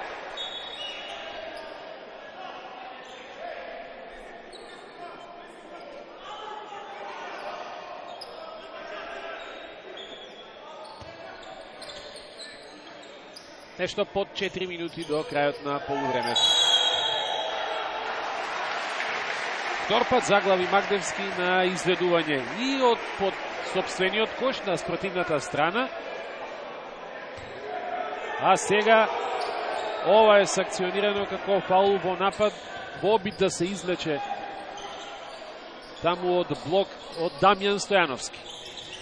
Нешто под четири минути до крајот на полувремето. Втор пат заглави Магдевски на изведување и од под собствениот кош на спротивната страна. А сега ова е санкционирано како фаул во напад во обид да се извлече таму од блок од Дамјан Стојановски.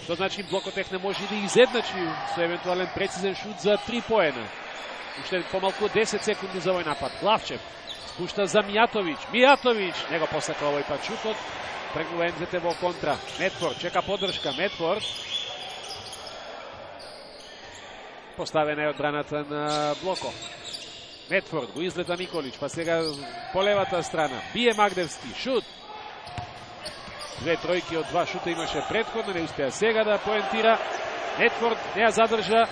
Што значи Блокотехна може да изедначи со евентуален прецизен шут за три поена. Уште помалку десет секунди за овој напад. Главчев спушта за Мијатовиќ. Мијатовиќ не го посака овој пат шутот. Прегнува Ен Зет Те во контра. Медфорд чека поддршка. Медфорд поставена е одбраната на Блоко. Медфорд го излета Николич, па сега по левата страна. Бие Магдевски. Шут. Две тројки од два шута имаше претходно, не успеа сега да поентира. Медфорд не ја задржа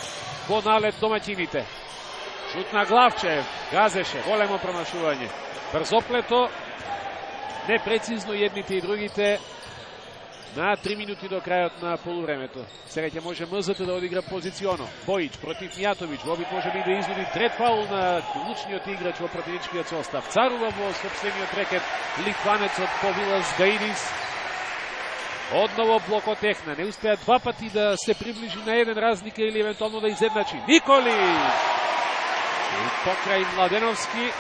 во налет домаќините. Шут на Главчев, газеше, големо промашување. Брзоплето, непрецизно едните и другите на три минути до крајот на полувремето. Сега ќе може МЗТ да одигра позиционо. Бојич против Мијатовиќ, во обид може би да изводи трет фаул на клучниот играч во противничкиот состав. Царува во собствениот рекет литванецот Повилас Гаидис. Одново Блокотехна, не успеа два пати да се приближи на еден разлика или евентуално да изедначи. Николич! И покрај Младеновски,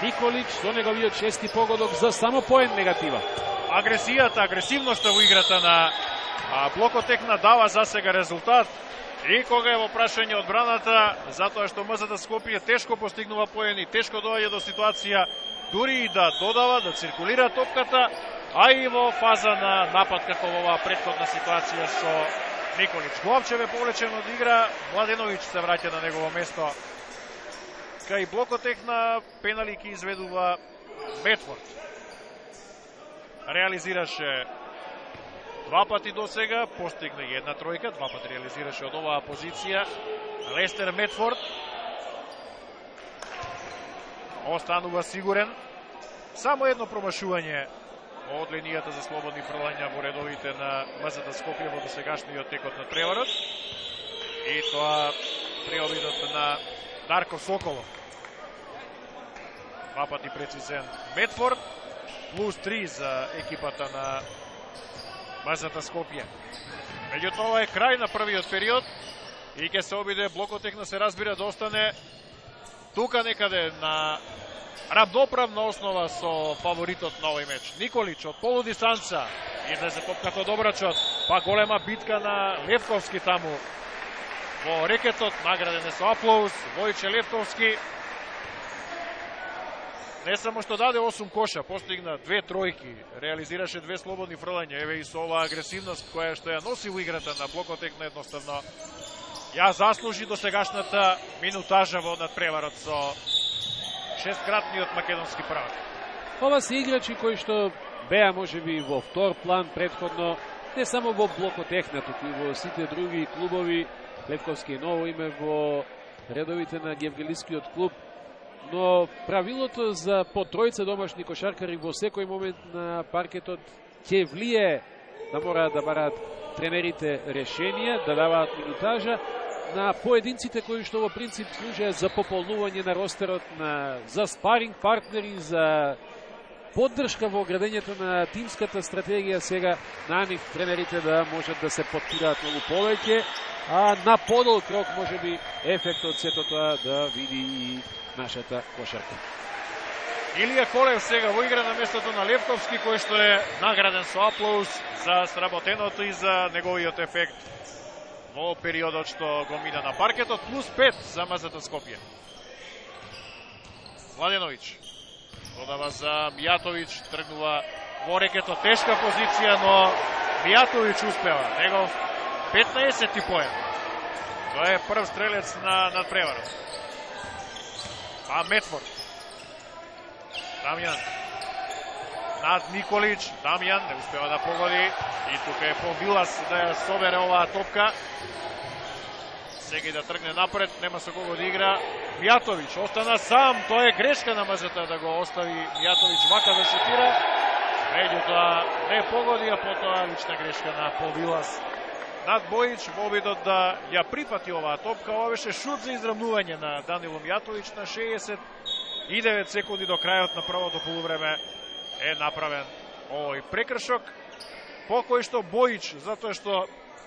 Николич со неговиот шести погодок за само поен негатива. Агресијата, агресивноста во играта на а, Блокотехна дава за сега резултат. И кога е во прашање одбраната, затоа што МЗТ Скопје тешко постигнува поени, тешко доаѓа до ситуација дури и да додава, да циркулира топката, а и во фаза на напад како во оваа претходна ситуација со Николич. Главчев е повлечен од игра, Младеновиќ се враќа на негово место. Кај Блокотехна пенали ки изведува Медфорд. Реализираше два пати до сега, постигна една тројка, два пати реализираше од оваа позиција Лестер Медфорд. Останува сигурен. Само едно промашување од линијата за слободни фрлања во редовите на МЗТ Скопје во досегашниот текот на преварот. И тоа при обидот на Дарко Соколов. Два пати прецизен Медфорд, плюс три за екипата на МЗТ Скопје. Меѓутоа е крај на првиот период и ќе се обиде Блокотехна се разбира да остане тука некаде на равноправна основа со фаворитот на овој меч. Николич од полудистанца излезе топката од обрачот, па голема битка на Левковски таму во рекетот, награден е со аплауз. Војче Левковски не само што даде осум коша, постигна две тројки, реализираше две слободни фрлања, еве и со оваа агресивност која што ја носи во играта на Блокотехна едноставно ја заслужи до сегашната минутажа во надпреварот со шесткратниот македонски правак. Ова се играчи кои што беа можеби во втор план претходно, не само во Блокотехна, туку и во сите други клубови. Левковски е ново име во редовите на Гевгелискиот клуб, но правилото за по тројца домашни кошаркари во секој момент на паркетот ќе влие да мораат да бараат тренерите решенија, да даваат минутажа на поединците кои што во принцип служат за пополнување на ростерот, на, за спаринг партнери, за поддршка во градењето на тимската стратегија сега на нив тренерите да можат да се подпираат многу повеќе, а на подолг рок може би ефектот сето тоа да види и нашата кошарка. Илија Колев сега во игра на местото на Левковски, кој што е награден со аплауз за сработеното и за неговиот ефект во периодот што го мина на паркетот, плюс пет за МЗТ Скопје. Младеновиќ додава за Мијатовиќ, тргнува во рекето, тешка позиција, но Мијатовиќ успева. Негов петнаесети поен. Тоа е прв стрелец на надпреварот. А Метфорд. Дамјан. Над Николич. Дамјан не успева да погоди. И тука е Повилас да ја собере оваа топка. Сега и да тргне напред, нема со кого да игра. Мијатовиќ остана сам, тоа е грешка на МЗТ да го остави Мијатовиќ вака да шутира. Меѓутоа не погоди, а потоа лична грешка на Повилас над Бојич во обидот да ја прифати оваа топка. Ова беше шут за израмнување на Данило Мијатовиќ на шеесет и девет секунди до крајот на првото полувреме е направен овој прекршок, по кој што Бојич, затоа што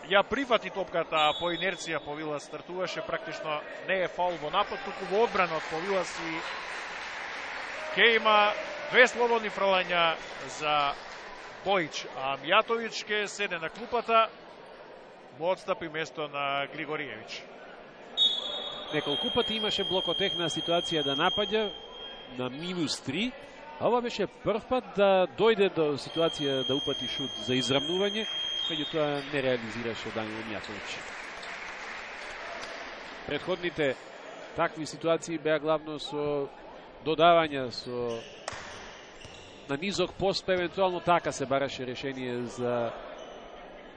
ја прифати топката, а по инерција Повилас стартуваше, практично не е фаул во напад, туку во одбрана од Повилас и ке има две слободни фрлања за Бојич, а Мијатовиќ ке седе на клупата, во одстапи место на Григориевиќ. Неколку пати имаше Блокотехна ситуација да напаѓа на минус три, а ова беше прв пат да дојде до ситуација да упати шут за израмнување, меѓутоа не реализираше Данило Мијатовиќ. Претходните такви ситуации беа главно со додавања, со на низок пост, евентуално така се бараше решение за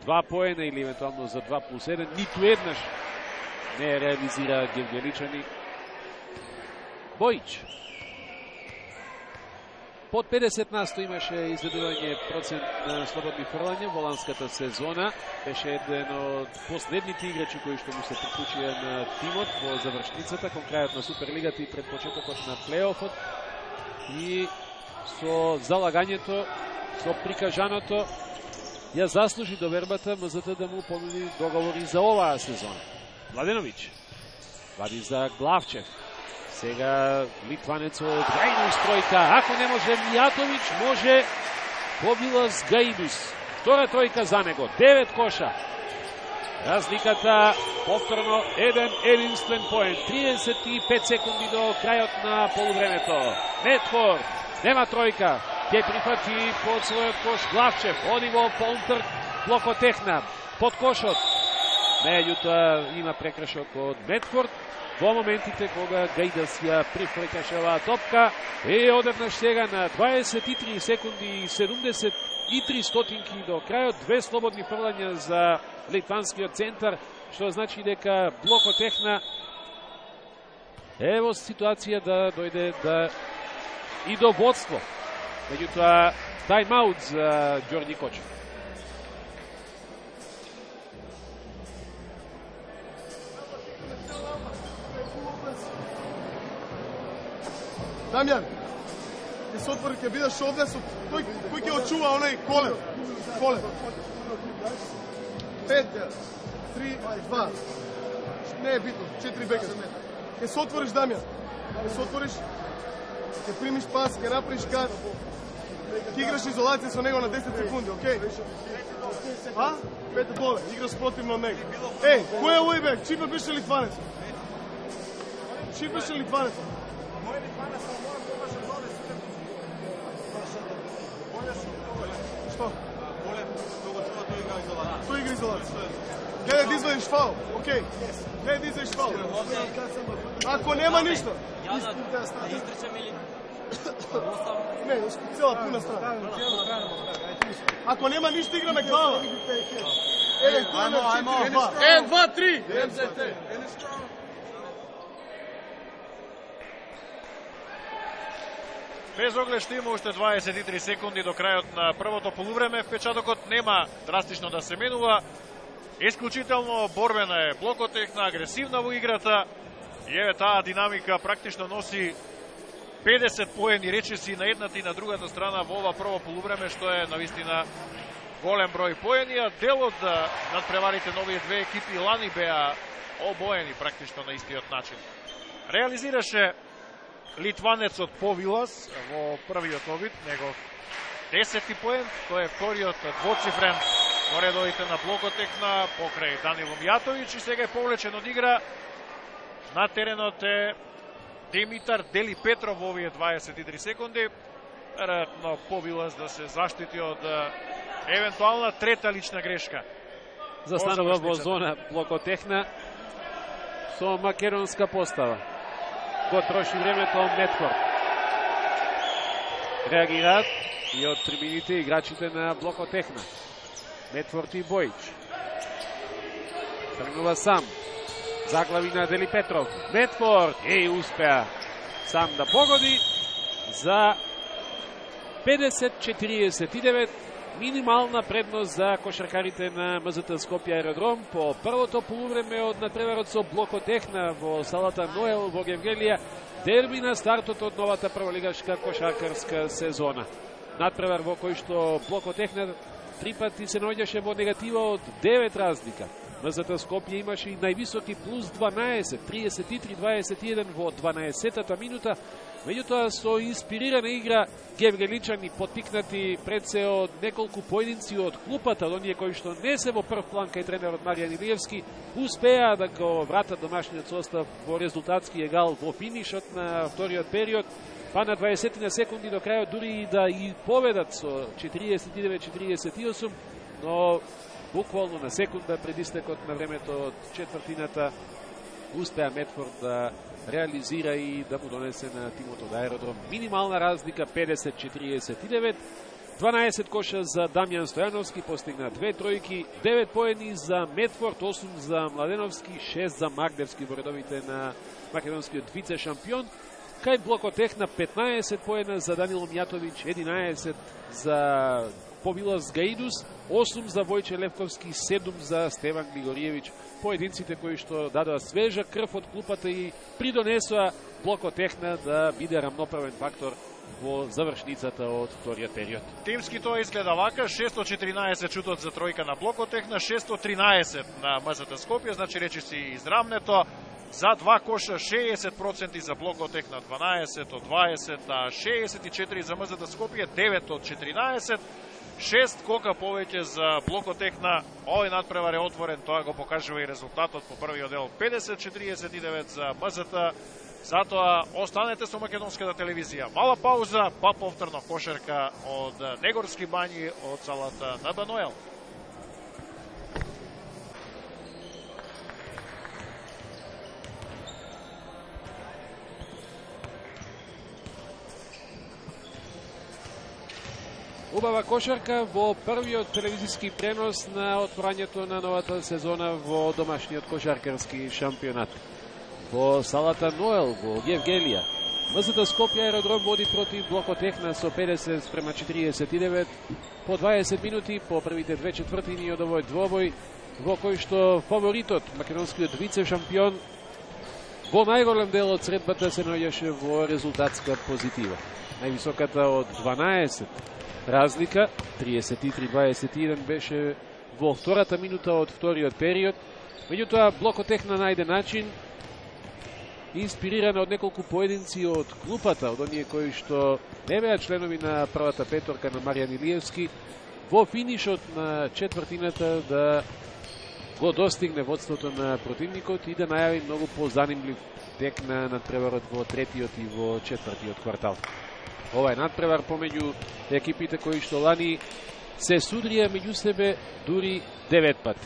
два поена или евентуално за два плюс еден. Ниту еднаш не реализира Гевгеличани. Бојич. Под педесет на сто имаше изведување процент на слободни фрлања во ланската сезона. Беше еден од последните играчи кои што му се приклучија на тимот во завршницата, кон крајот на Суперлигата и пред почетокот на плейофот. И со залагањето, со прикажаното, ја заслужи довербата МЗТ да му понуди договори за оваа сезона. Младеновиќ вади за Главчев. Сега литванецот Гајдус тројка. Ако не може Мијатовиќ, може Повилас Гајдус. Втора тројка за него. Девет коша. Разликата повторно еден единствен поен. триесет и пет секунди до крајот на полувремето. Метфорд нема тројка. Ќе прифати под својот кош Главчев. Оди во полнтрк Блокотехна. Под кошот. Меѓутоа има прекршок од Метфорд во моментите кога Гајдас ја прифрекаше оваа топка. И одеднаш сега на дваесет и три секунди и седумдесет и три стотинки до крајот. Две слободни фрлања за литванскиот центар, што значи дека Блокотехна е во ситуација да дојде да и до водство. Меѓутоа, тајм-аут за Ѓорѓи Кочев. Дамјан, ќе се отвори, ќе бидеш овде со тој кој ќе очува оној Колев. Колев. пет, три, два. Не е битно, четири бека. Ќе се отвориш, Дамјан. Ќе се отвориш, ќе примиш пас, ќе направиш кат. Ќе играш изолација со него на десет секунди, окей? А? Пете доле, играш противно од него. Еј, кој е овој бек? Чипе беше Литванец? Чипе беше Литванец? Што? Тој игра изолација. Гледај да извадиш фаул, окей. Гледај да извадиш фаул. Ако нема ништо. Да изтрчам или... Не, цела пуна страна. Ако нема ништо, играме глава. Еден, ајмо, ајмо. Еден, два, три. Без оглед што има уште дваесет и три секунди до крајот на првото полувреме, впечатокот нема драстично да се менува. Исклучително борбена е Блокотехна, агресивна во играта. И еве таа динамика практично носи педесет поени речиси на едната и на другата страна во ова прво полувреме, што е навистина голем број поени, а делот над преварите на овие две екипи лани беа обоени практично на истиот начин. Реализираше литванецот Повилас во првиот обид, негов десети поен, тој е вториот двоцифрен во редовите на Блокотехна покрај Данило Мијатовиќ, и сега е повлечен од игра. На теренот е Димитар Дели Петров во овие дваесет и три секунди. Веројатно Повилас да се заштити од евентуална трета лична грешка. Застанува во зона Блокотехна со македонска постава. Го троши времето Медфорд. Реагираат и од трибините играчите на Блокотехна. Медфорд и Бојич. Тргнува сам. Заглави на Дели Петров. Медфорд и успеа сам да погоди за педесет четириесет и девет. Минимална предност за кошаркарите на МЗТ Скопје Аеродром по првото полувреме од надпреварот со Блокотехна во салата Ноел во Гевгелија. Дерби на стартот од новата прволигашка кошаркарска сезона. Надпревар во кој што Блокотехна три пати се наоѓаше во негатива од девет разлика. МЗТ Скопје имаше и највисоки плюс дванаесет, триесет и три дваесет и еден во дванаесеттата минута. Меѓутоа со инспирирана игра гевгеличани поттикнати пред се од неколку поединци од клупата, од оние кои што не се во прв план кај тренерот Маријан Илиевски, успеа да го вратат домашниот состав во резултатски егал во финишот на вториот период, па на дваесет на секунди до крајот дури и да и победат со четириесет и девет четириесет и осум, но буквално на секунда пред истекот на времето од четвртината успеа Медфорд да реализира и да му донесе на тимот од Аеродром минимална разлика педесет четириесет и девет. дванаесет коша за Дамјан Стојановски, постигна две тројки, девет поени за Медфорд, осум за Младеновски, шест за Магдевски во редовите на македонскиот вице шампион. Кај Блокотехна петнаесет поена за Данило Мијатовиќ, единаесет за Повилас Гаидус, осум за Војче Левковски, седум за Стеван Григориевиќ. Поединците кои што дадоа свежа крв од клупата и придонесоа Блокотехна да биде рамноправен фактор во завршницата од вториот период. Тимски тоа изгледа вака: шестстотини и четиринаесет шутот за тројка на Блокотехна, шестстотини и тринаесет на МЗТ Скопје, значи речи си израмнето. За два коша шеесет проценти за Блокотехна, дванаесет од дваесет, а шеесет и четири за МЗТ Скопје, девет од четиринаесет. шест кока повеќе за Блокотехна. Овој надпревар е отворен, тоа го покажува и резултатот по првиот дел. педесет четириесет и девет за МЗТ. Затоа останете со македонската телевизија. Мала пауза, па повторно кошерка од Негорски бањи од салата на Баноел. Убава кошарка во првиот телевизиски пренос на отворањето на новата сезона во домашниот кошаркарски шампионат. Во салата Ноел во Гевгелија, МЗТ Скопје Аеродром води против Блокотехна со педесет спрема четириесет и девет по дваесет минути по првите две четвртини од овој двобој, во кој што фаворитот, македонскиот вице шампион, во најголем дел од средбата се наоѓаше во резултатска позитива. Највисоката од дванаесет разлика, триесет и три дваесет и еден, беше во втората минута од вториот период. Меѓутоа Блокотехна најде начин, инспирирана од неколку поединци од клупата, од оние кои што не беа членови на првата петорка на Маријан Илиевски, во финишот на четвртината да го достигне водството на противникот и да најави многу позанимлив тек на надпреварот во третиот и во четвртиот квартал. Ова е надпревар помеѓу екипите кои што лани се судрија меѓу себе дури девет пати.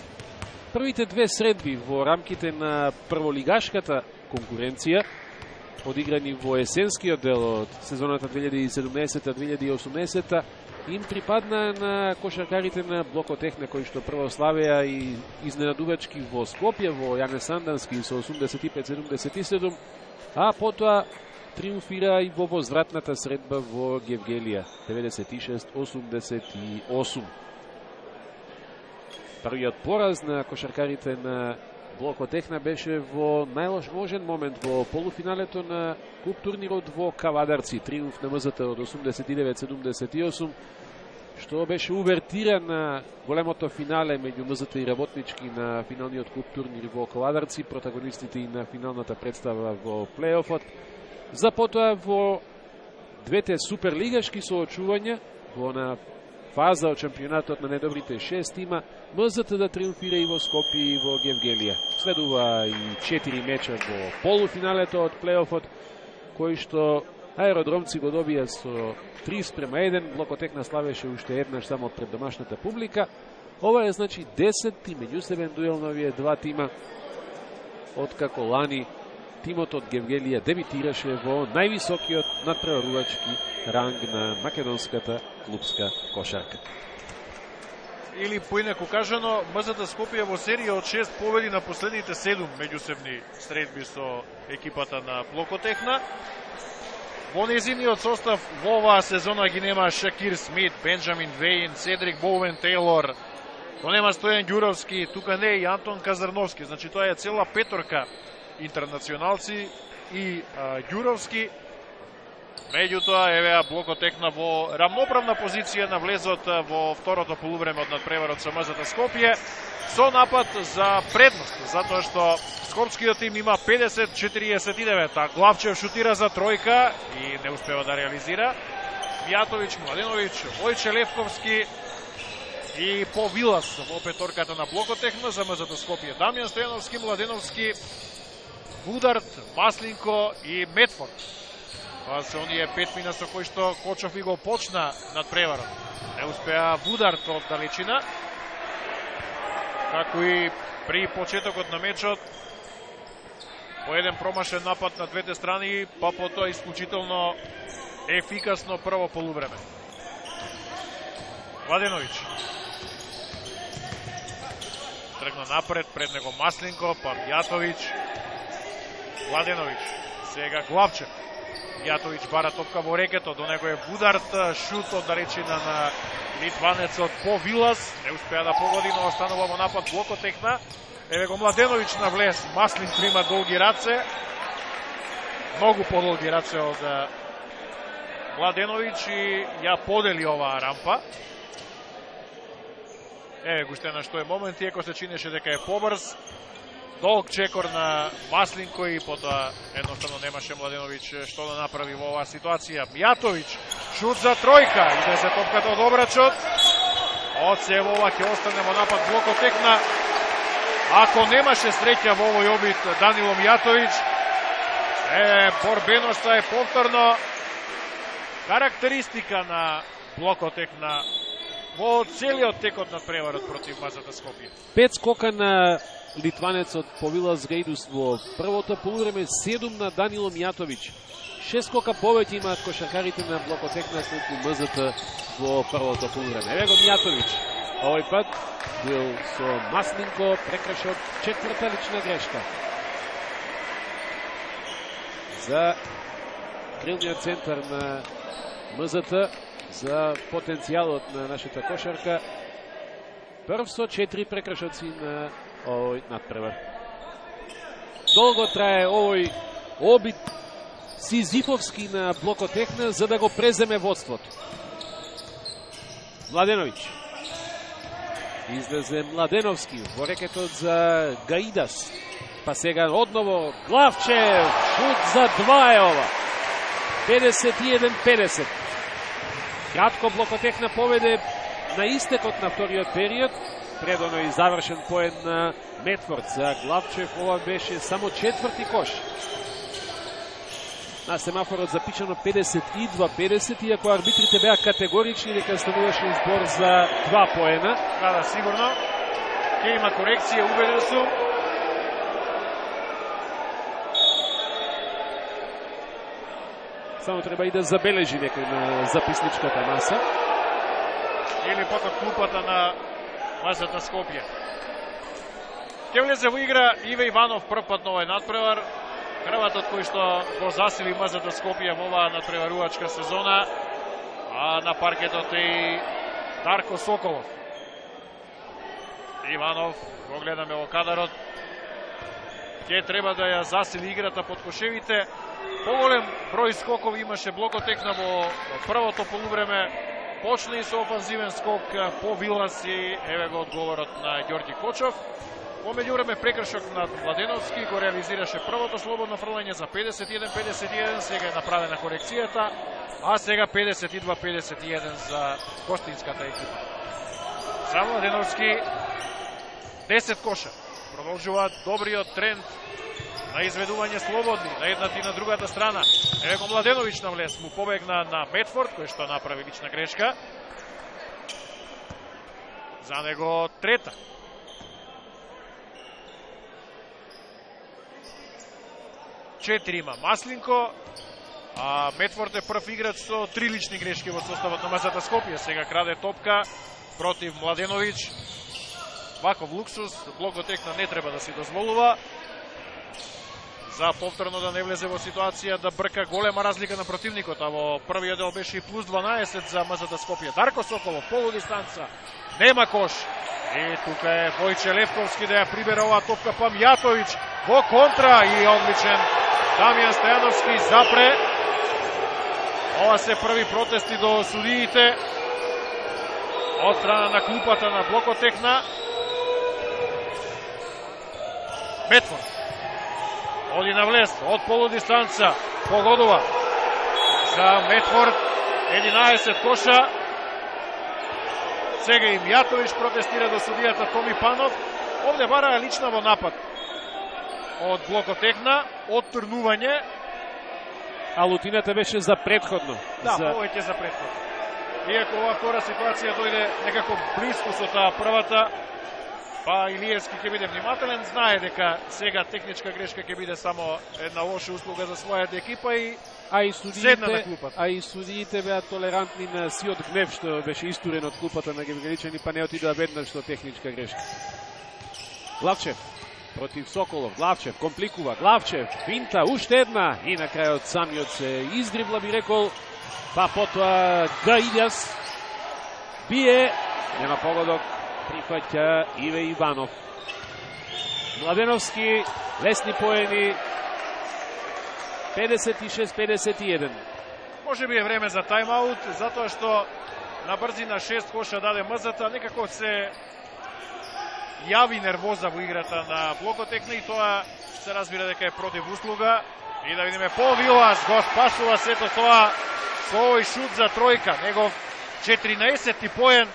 Првите две средби во рамките на прволигашката конкуренција, одиграни во есенскиот дел од сезоната две илјади и седумнаесета две илјади и осумнаесета, им припадна на кошаркарите на Блокотехна, кои што прво славеа и изненадувачки во Скопје, во Јане Сандански со осумдесет и пет седумдесет и седум, а потоа триумфира и во возвратната средба во Гевгелија, деветдесет и шест осумдесет и осум. Првиот пораз на кошаркарите на Блокотехна беше во најложен момент во полуфиналето на куп турнирот во Кавадарци. Триумф на МЗТ од осумдесет и девет седумдесет и осум, што беше увертира на големото финале меѓу МЗТ и Работнички на финалниот куп турнир во Кавадарци, протагонистите и на финалната представа во плейофот. За потоа во двете суперлигашки соочувања во на фаза од шампионатот на недобрите шест тима, МЗТ да триумфира и во Скопје и во Гевгелија. Следува и четири меча во полуфиналето од плейофот, кои што аеродромци го добија со три спрема еден, Блокотехна славеше уште еднаш само пред домашната публика. Ова е значи десетти меѓусебен дуел на овие два тима, откако лани тимот од Гевгелија дебитираше во највисокиот надпреварувачки ранг на македонската клубска кошарка. Или поинаку кажано, МЗТ Скопје во серија од шест победи на последните седум меѓусебни средби со екипата на Блокотехна. Во незиниот состав во оваа сезона ги нема Шакир Смит, Бенджамин Вејн, Седрик Боуен Тейлор, то нема Стојан Ѓуровски, тука не е и Антон Казарновски, значи тоа е цела петорка интернационалци и а, Ѓуровски. Меѓутоа, евеа Блокотехна во рамноправна позиција на влезот во второто полувреме од надпреварот со МЗТ Скопје, со напад за предност, затоа што скопскиот тим има педесет четириесет и девет, а Главчев шутира за тројка и не успева да реализира. Мијатовиќ, Младеновиќ, Војче Левковски и По Вилас во петорката на Блокотехна за МЗТ Скопје. Дамјан Стојановски, Младеновски, Вударт, Маслинко и Метфорд. Това се оние пет мина со кои што Кочов и го почна над преварот. Не успеа Вударт од далечина. Како и при почетокот на мечот, по еден промашен напад на двете страни, па потоа исклучително ефикасно прво полувреме. Младеновиќ тргна напред, пред него Маслинко, па Мијатовиќ. Младеновиќ, сега Главчев. Мијатовиќ бара топка во рекето, до него е Вударт, шут од далечина на литванецот По Вилас, не успеа да погоди, но останува во напад Блокотехна. Еве го Младеновиќ на влез, Маслинко има долги раце, многу подолги раце од Младеновиќ и ја подели оваа рампа. Еве го уште на што е момент, иако се чинеше дека е побрз. Долг чекор на Маслинко и потоа едноставно немаше Младеновиќ што да направи во оваа ситуација. Мијатовиќ, шут за тројка, иде за топката од обрачот. Од се во ова ќе остане во напад Блокотехна. Ако немаше среќа во овој обид Данило Мијатовиќ, е, борбеноста е повторно карактеристика на Блокотехна во целиот текот на преварот против МЗТ Скопје. Пет скока на литванецот По Вилас Грейдус во првото полувреме, седум на Данило Мијатовиќ. Шест скока повеќе имаат кошаркарите на Блокотехна сметку МЗТ во првото полувреме. Еве го Мијатовиќ. Овој пат бил со Маслинко, прекршот четврта лична грешка. За крилниот центар на МЗТ, за потенцијалот на нашата кошарка. Прв со четири прекршоци на овој надпревар. Долго трае овој обид сизифовски на Блокотехна за да го преземе водството. Младеновиќ. Излезе Младеновски во рекетот за Гаидас. Па сега одново Главчев. Шут за два е ова. педесет и еден педесет. Кратко Блокотехна поведе на истекот на вториот период. Предоно и завршен поен на Метфорд. За Главчев ова беше само четврти кош. На семафорот запишано педесет и два педесет, иако арбитрите беа категорични дека стануваше збор за два поена. Да, да, сигурно. Ке има корекција, убеден сум. Само треба и да забележи некој на записничката маса. Или пак од клупата на МЗТ Скопје. Ке влезе во игра Иве Иванов прв пат на овој надпревар. Крватот кој што го засили МЗТ Скопје во оваа надпреварувачка сезона, а на паркетот е и Дарко Соколов. Иванов, го гледаме во кадарот, ќе треба да ја засили играта под кошевите. Поголем број скокови имаше Блокотекна во првото полувреме. Почна и со офанзивен скок по Вилас и еве го одговорот на Ѓорѓи Кочов. Во меѓувреме прекршок над Младеновски го реализираше првото слободно фрлање за педесет и еден педесет и еден, сега е направена корекцијата, а сега педесет и два педесет и еден за гостинската екипа. За Младеновски десет коша. Продолжуваат добриот тренд на изведување слободни на едната и на другата страна. Еве го Младеновиќ на влез, му побегна на Медфорд, кој што направи лична грешка. За него трета. Четири има Маслинко, а Медфорд е прв играч со три лични грешки во составот на МЗТ Скопје. Сега краде топка против Младеновиќ. Ваков луксус Блокотекна не треба да си дозволува. За повторно да не влезе во ситуација да брка голема разлика на противникот, а во првиот дел беше и плюс дванаесет за МЗТ Скопје. Дарко Соколов, полудистанца, нема кош. И тука е Војче Левковски да ја прибере оваа топка, па Мјатовиќ во контра и одличен Дамјан Стојановски запре. Ова се први протести до судиите од страна на клупата на Блокотекна. Медфорд оди на влез од полудистанца, погодува за Медфорд, единаесет коша. Сега и Мјатовиќ протестира до судијата Томи Панов. Овде бараа лична во напад од Блокотекна, оттрнување. А лутината беше за предходно. Да, за... повеќе за предходно. Иако оваа втора ситуација дојде некако близко со таа првата, па Илиевски ќе биде внимателен, знае дека сега техничка грешка ќе биде само една лоша услуга за својата екипа и а и седна на судиите, клупата. а и судиите беа толерантни на сиот гнев што беше истурен од клупата на Гевгеличани, па не отидоа веднаш што техничка грешка. Главчев против Соколов, Главчев компликува, Главчев финта, уште една и на крајот самиот се издрибла, би рекол, па потоа Гаидјас бие, нема погодок, прифаќа Иве Иванов. Младеновски, лесни поени, педесет и шест педесет и еден. Може би е време за тайм-аут, затоа што на брзина шест коша даде МЗТ, некако се јави нервоза во играта на Блокотекна и тоа се разбира дека е против услуга. И да видиме по Вилас го спасува сето тоа со овој шут за тројка, негов четиринаесети поен.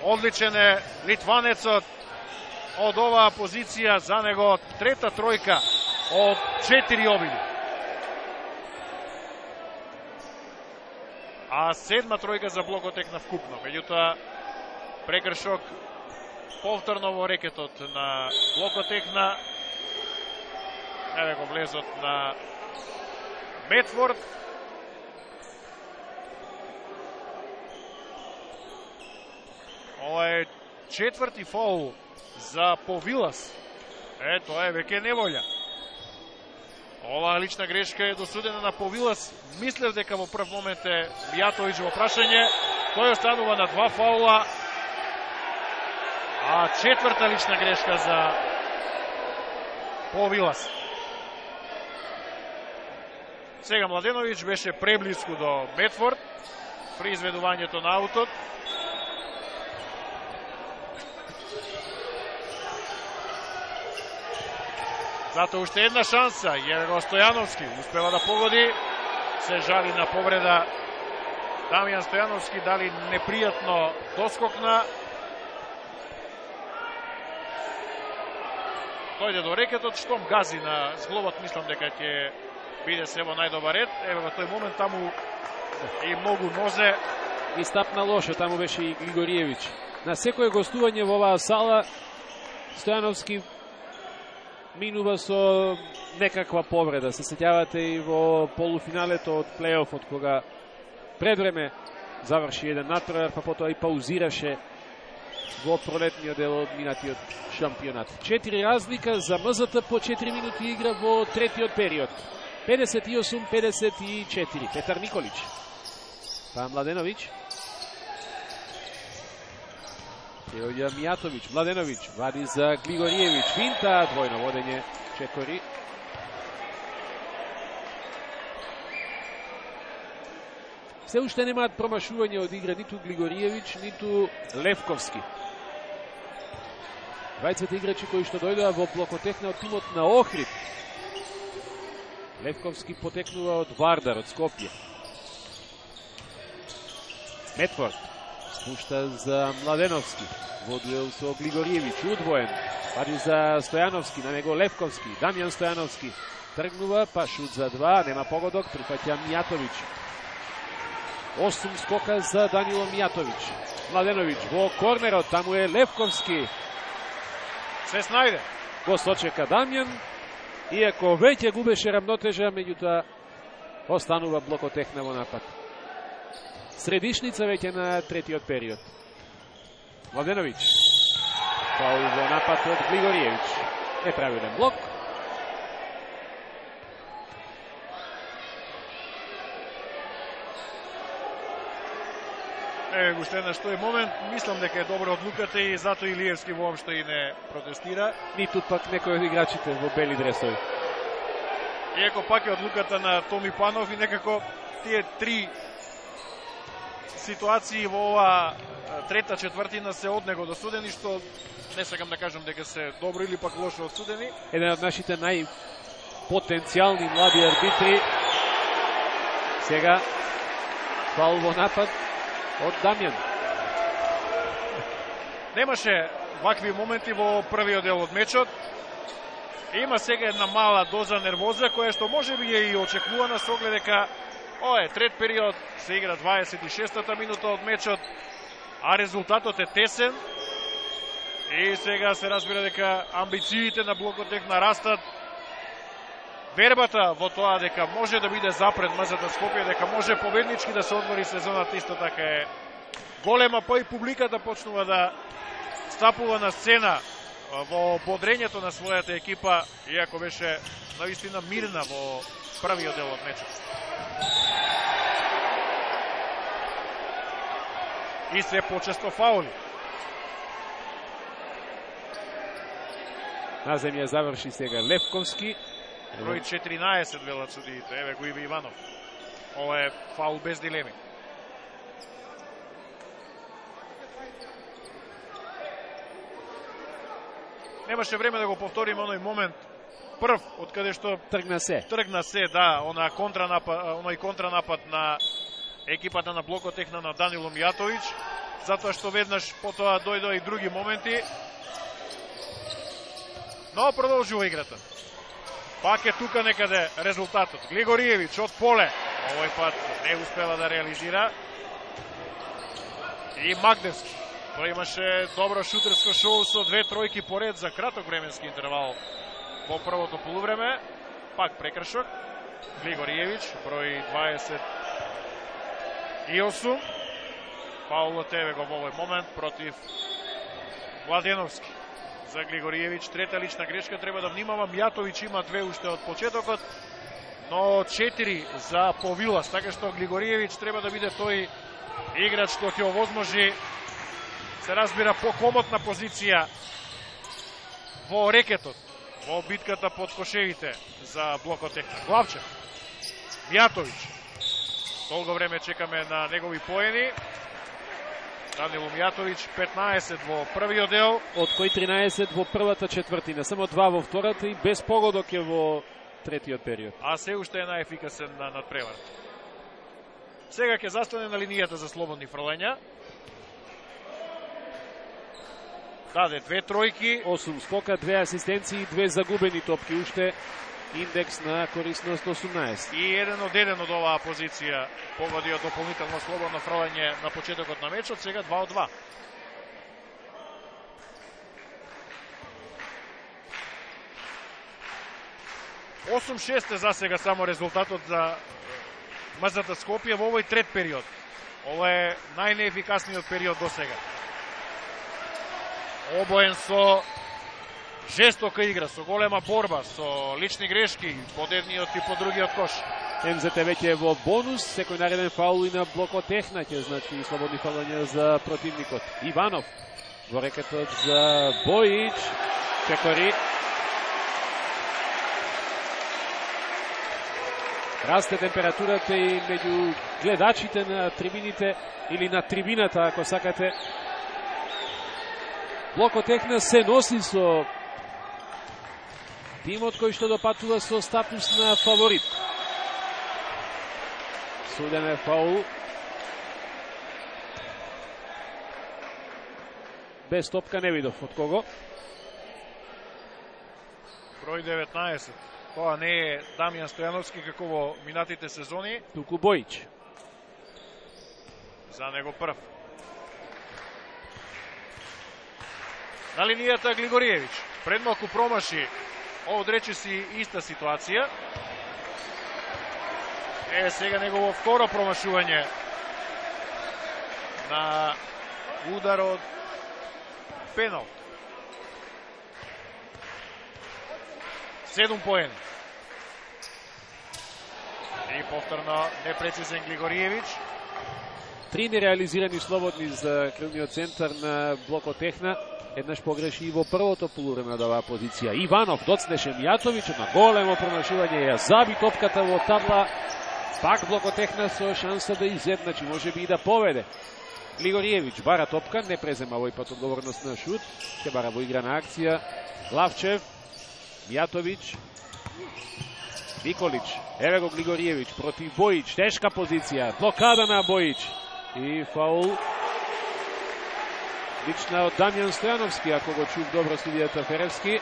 Одличен е литванецот од оваа позиција, за него трета тројка од четири обиди. А седма тројка за Блокотекна вкупно. Меѓутоа, прекршок повторно во рекетот на Блокотекна. Еве го влезот на Медфорд. Ова е четврти фаул за Повилас. Е, тоа е веќе неволја. Оваа лична грешка е досудена на Повилас. Мислев дека во прв момент е Мјатовиќ во прашање. Тој останува на два фаула. А четврта лична грешка за Повилас. Сега Младеновиќ беше преблиску до Медфорд при изведувањето на аутот. Зато уште една шанса. Еве го Стојановски, успева да погоди. Се жали на повреда Дамјан Стојановски, дали непријатно доскокна. Дојде до рекетот, штом гази на зглобот, мислам дека ќе биде се во најдобар ред. Еве во тој момент таму и многу нозе. И стапна лошо, таму беше и Григориевиќ. На секој гостување во оваа сала Стојановски минува со некаква повреда. Се сеќавате и во полуфиналето од плейофот, кога предвреме заврши еден натпревар, па потоа и паузираше во пролетниот дел од минатиот шампионат. Четири разлика за МЗТ по четири минути игра во третиот период. педесет и осум педесет и четири. Петар Николич. Па Младеновиќ. Илија Мијатовиќ, Младеновиќ, вади за Глигориевиќ, финта, двојно водење, Чекори. Се уште немаат промашување од игра ниту Глигориевиќ, ниту Левковски. Двајцата играчи кои што дојдоа во блокотехна од тимот на Охрид. Левковски потекнува од Вардар, од Скопје. Метфорд спушта за Младеновски. Во дуел со Глигориевиќ, удвоен. Вади за Стојановски, на него Левковски. Дамјан Стојановски тргнува, па шут за два, нема погодок, прифаќа Мијатовиќ. Осум скока за Данило Мијатовиќ. Младеновиќ во корнерот, таму е Левковски. Се снајде. Го сочека Дамјан, иако веќе губеше рамнотежа, меѓутоа останува блокотехна во напад. Средишница веќе на третиот период. Младеновиќ. Фаул во напад од Глигориевиќ. Неправилен блок. Еве го уште еднаш тој момент, мислам дека е добра одлуката и затоа Илиевски воопшто и не протестира. Ниту пак некој од играчите во бели дресови. Иако пак е одлуката на Томи Панов и некако тие три ситуации во ова трета четвртина се од него досудени, што не сакам да кажам дека се добро или пак лошо одсудени. Еден од нашите најпотенцијални млади арбитри. Сега фаул во напад од Дамјан. Немаше вакви моменти во првиот дел од мечот. Има сега една мала доза нервоза, која што може би е и очекувана со оглед дека ова е трет период, се игра дваесет и шестата минута од мечот, а резултатот е тесен. И сега се разбира дека амбициите на блокотехна растат. Вербата во тоа дека може да биде запред МЗТ Скопје, дека може победнички да се одвори сезоната, исто така е голема, па и публиката почнува да стапува на сцена во бодрењето на својата екипа, иако беше наистина мирна во првиот дел од мечот. И се почесто фаули. На земја заврши сега Левковски. Број четиринаесет велат судиите. Еве го Иви Иванов. Ова е фаул без дилеми. Немаше време да го повториме оној момент прв, од каде што тргна се. Тргна се, да, она контранапад, оној контранапад на екипата на блокотехна на Данило Мијатовиќ, затоа што веднаш потоа дојдоа и други моменти. Но продолжува играта. Пак е тука некаде резултатот. Глигориевиќ од поле. Овој пат не успела да реализира. И Магдевски. Тој имаше добро шутерско шоу со две тројки поред за краток временски интервал во првото полувреме. Пак прекршок. Глигориевиќ, број дваесет и осум. Фаулот еве го во овој момент против Младеновски. За Глигориевиќ трета лична грешка, треба да внимава. Мијатовиќ има две уште од почетокот, но четири за Повилас, така што Глигориевиќ треба да биде тој играч што ќе овозможи, се разбира, покомотна позиција во рекетот, во битката под кошевите за блокотехна. Главчев, Мијатовиќ, долго време чекаме на негови поени. Данило Мијатовиќ, петнаесет во првиот дел, од кои тринаесет во првата четвртина, само два во втората и без погодок е во третиот период. А се уште е најефикасен на надпревар. Сега ќе застане на линијата за слободни фрлања. Даде две тројки, осум скока, две асистенции, две загубени топки, уште индекс на корисност осумнаесет. И еден од еден од оваа позиција погоди од дополнително слободно фрлање на почетокот на мечот, сега два од два. осум шест е за сега само резултатот за МЗТ Скопје во овој трет период. Ова е најнеефикасниот период до сега. Обоен со жестока игра, со голема борба, со лични грешки, под едниот и под другиот кош. МЗТ веќе е во бонус, секој нареден фаул и на блокотехна ќе значи слободни фалања за противникот. Иванов Во рекетот за Бојич. Чекори. Расте температурата и меѓу гледачите на трибините или на трибината, ако сакате. Блокотехна се носи со тимот кој што допатува со статус на фаворит. Суден е фаул. Без топка не видов од кого. Број деветнаесет. Тоа не е Дамјан Стојановски како во минатите сезони. Туку Бојич. За него прв. На линијата Глигориевич. Пред малку промаши. Одрече си иста ситуација. Е, сега негово второ промашување на удар од пенал. Седум поени. И повторно непрецизен Глигориевич. Три нереализирани слободни за крилниот центар на Блокотехна. Еднаш погреши и во првото полувреме од оваа позиција. Иванов доцнеше Мијатовиќ на големо промашување, ја заби топката во табла. Пак Блокотехна со шанса да изедначи, може би и да поведе. Глигориевич бара топка, не презема овој пат одговорност на шут. Ќе бара во играна акција. Главчев, Мијатовиќ, Николич, еве го Глигориевич против Бојич, тешка позиција, блокада на Бојич и фаул. Лична од Дамјан Стојановски, ако го чув добро судијата Феревски.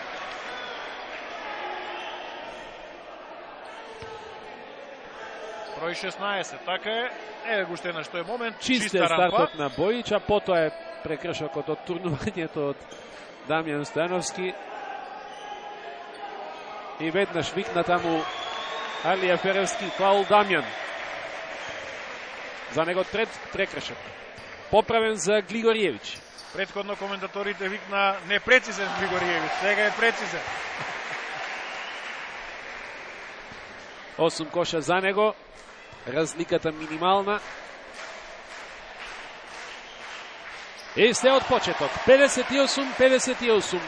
Број шеснаесет, така е. Еве го уште еднаш, тој момент. Чист е стартот на Бојич, а потоа е прекршокот од турнувањето од Дамјан Стојановски. И веднаш викна таму Алија Феревски, фаул Дамјан. За него трет прекршок. Поправен за Глигориевич. Предходно коментаторите викна непрецизен Глигориевич, сега е прецизен. Осум коша за него, разликата минимална. И се од почеток, педесет и осум педесет и осум.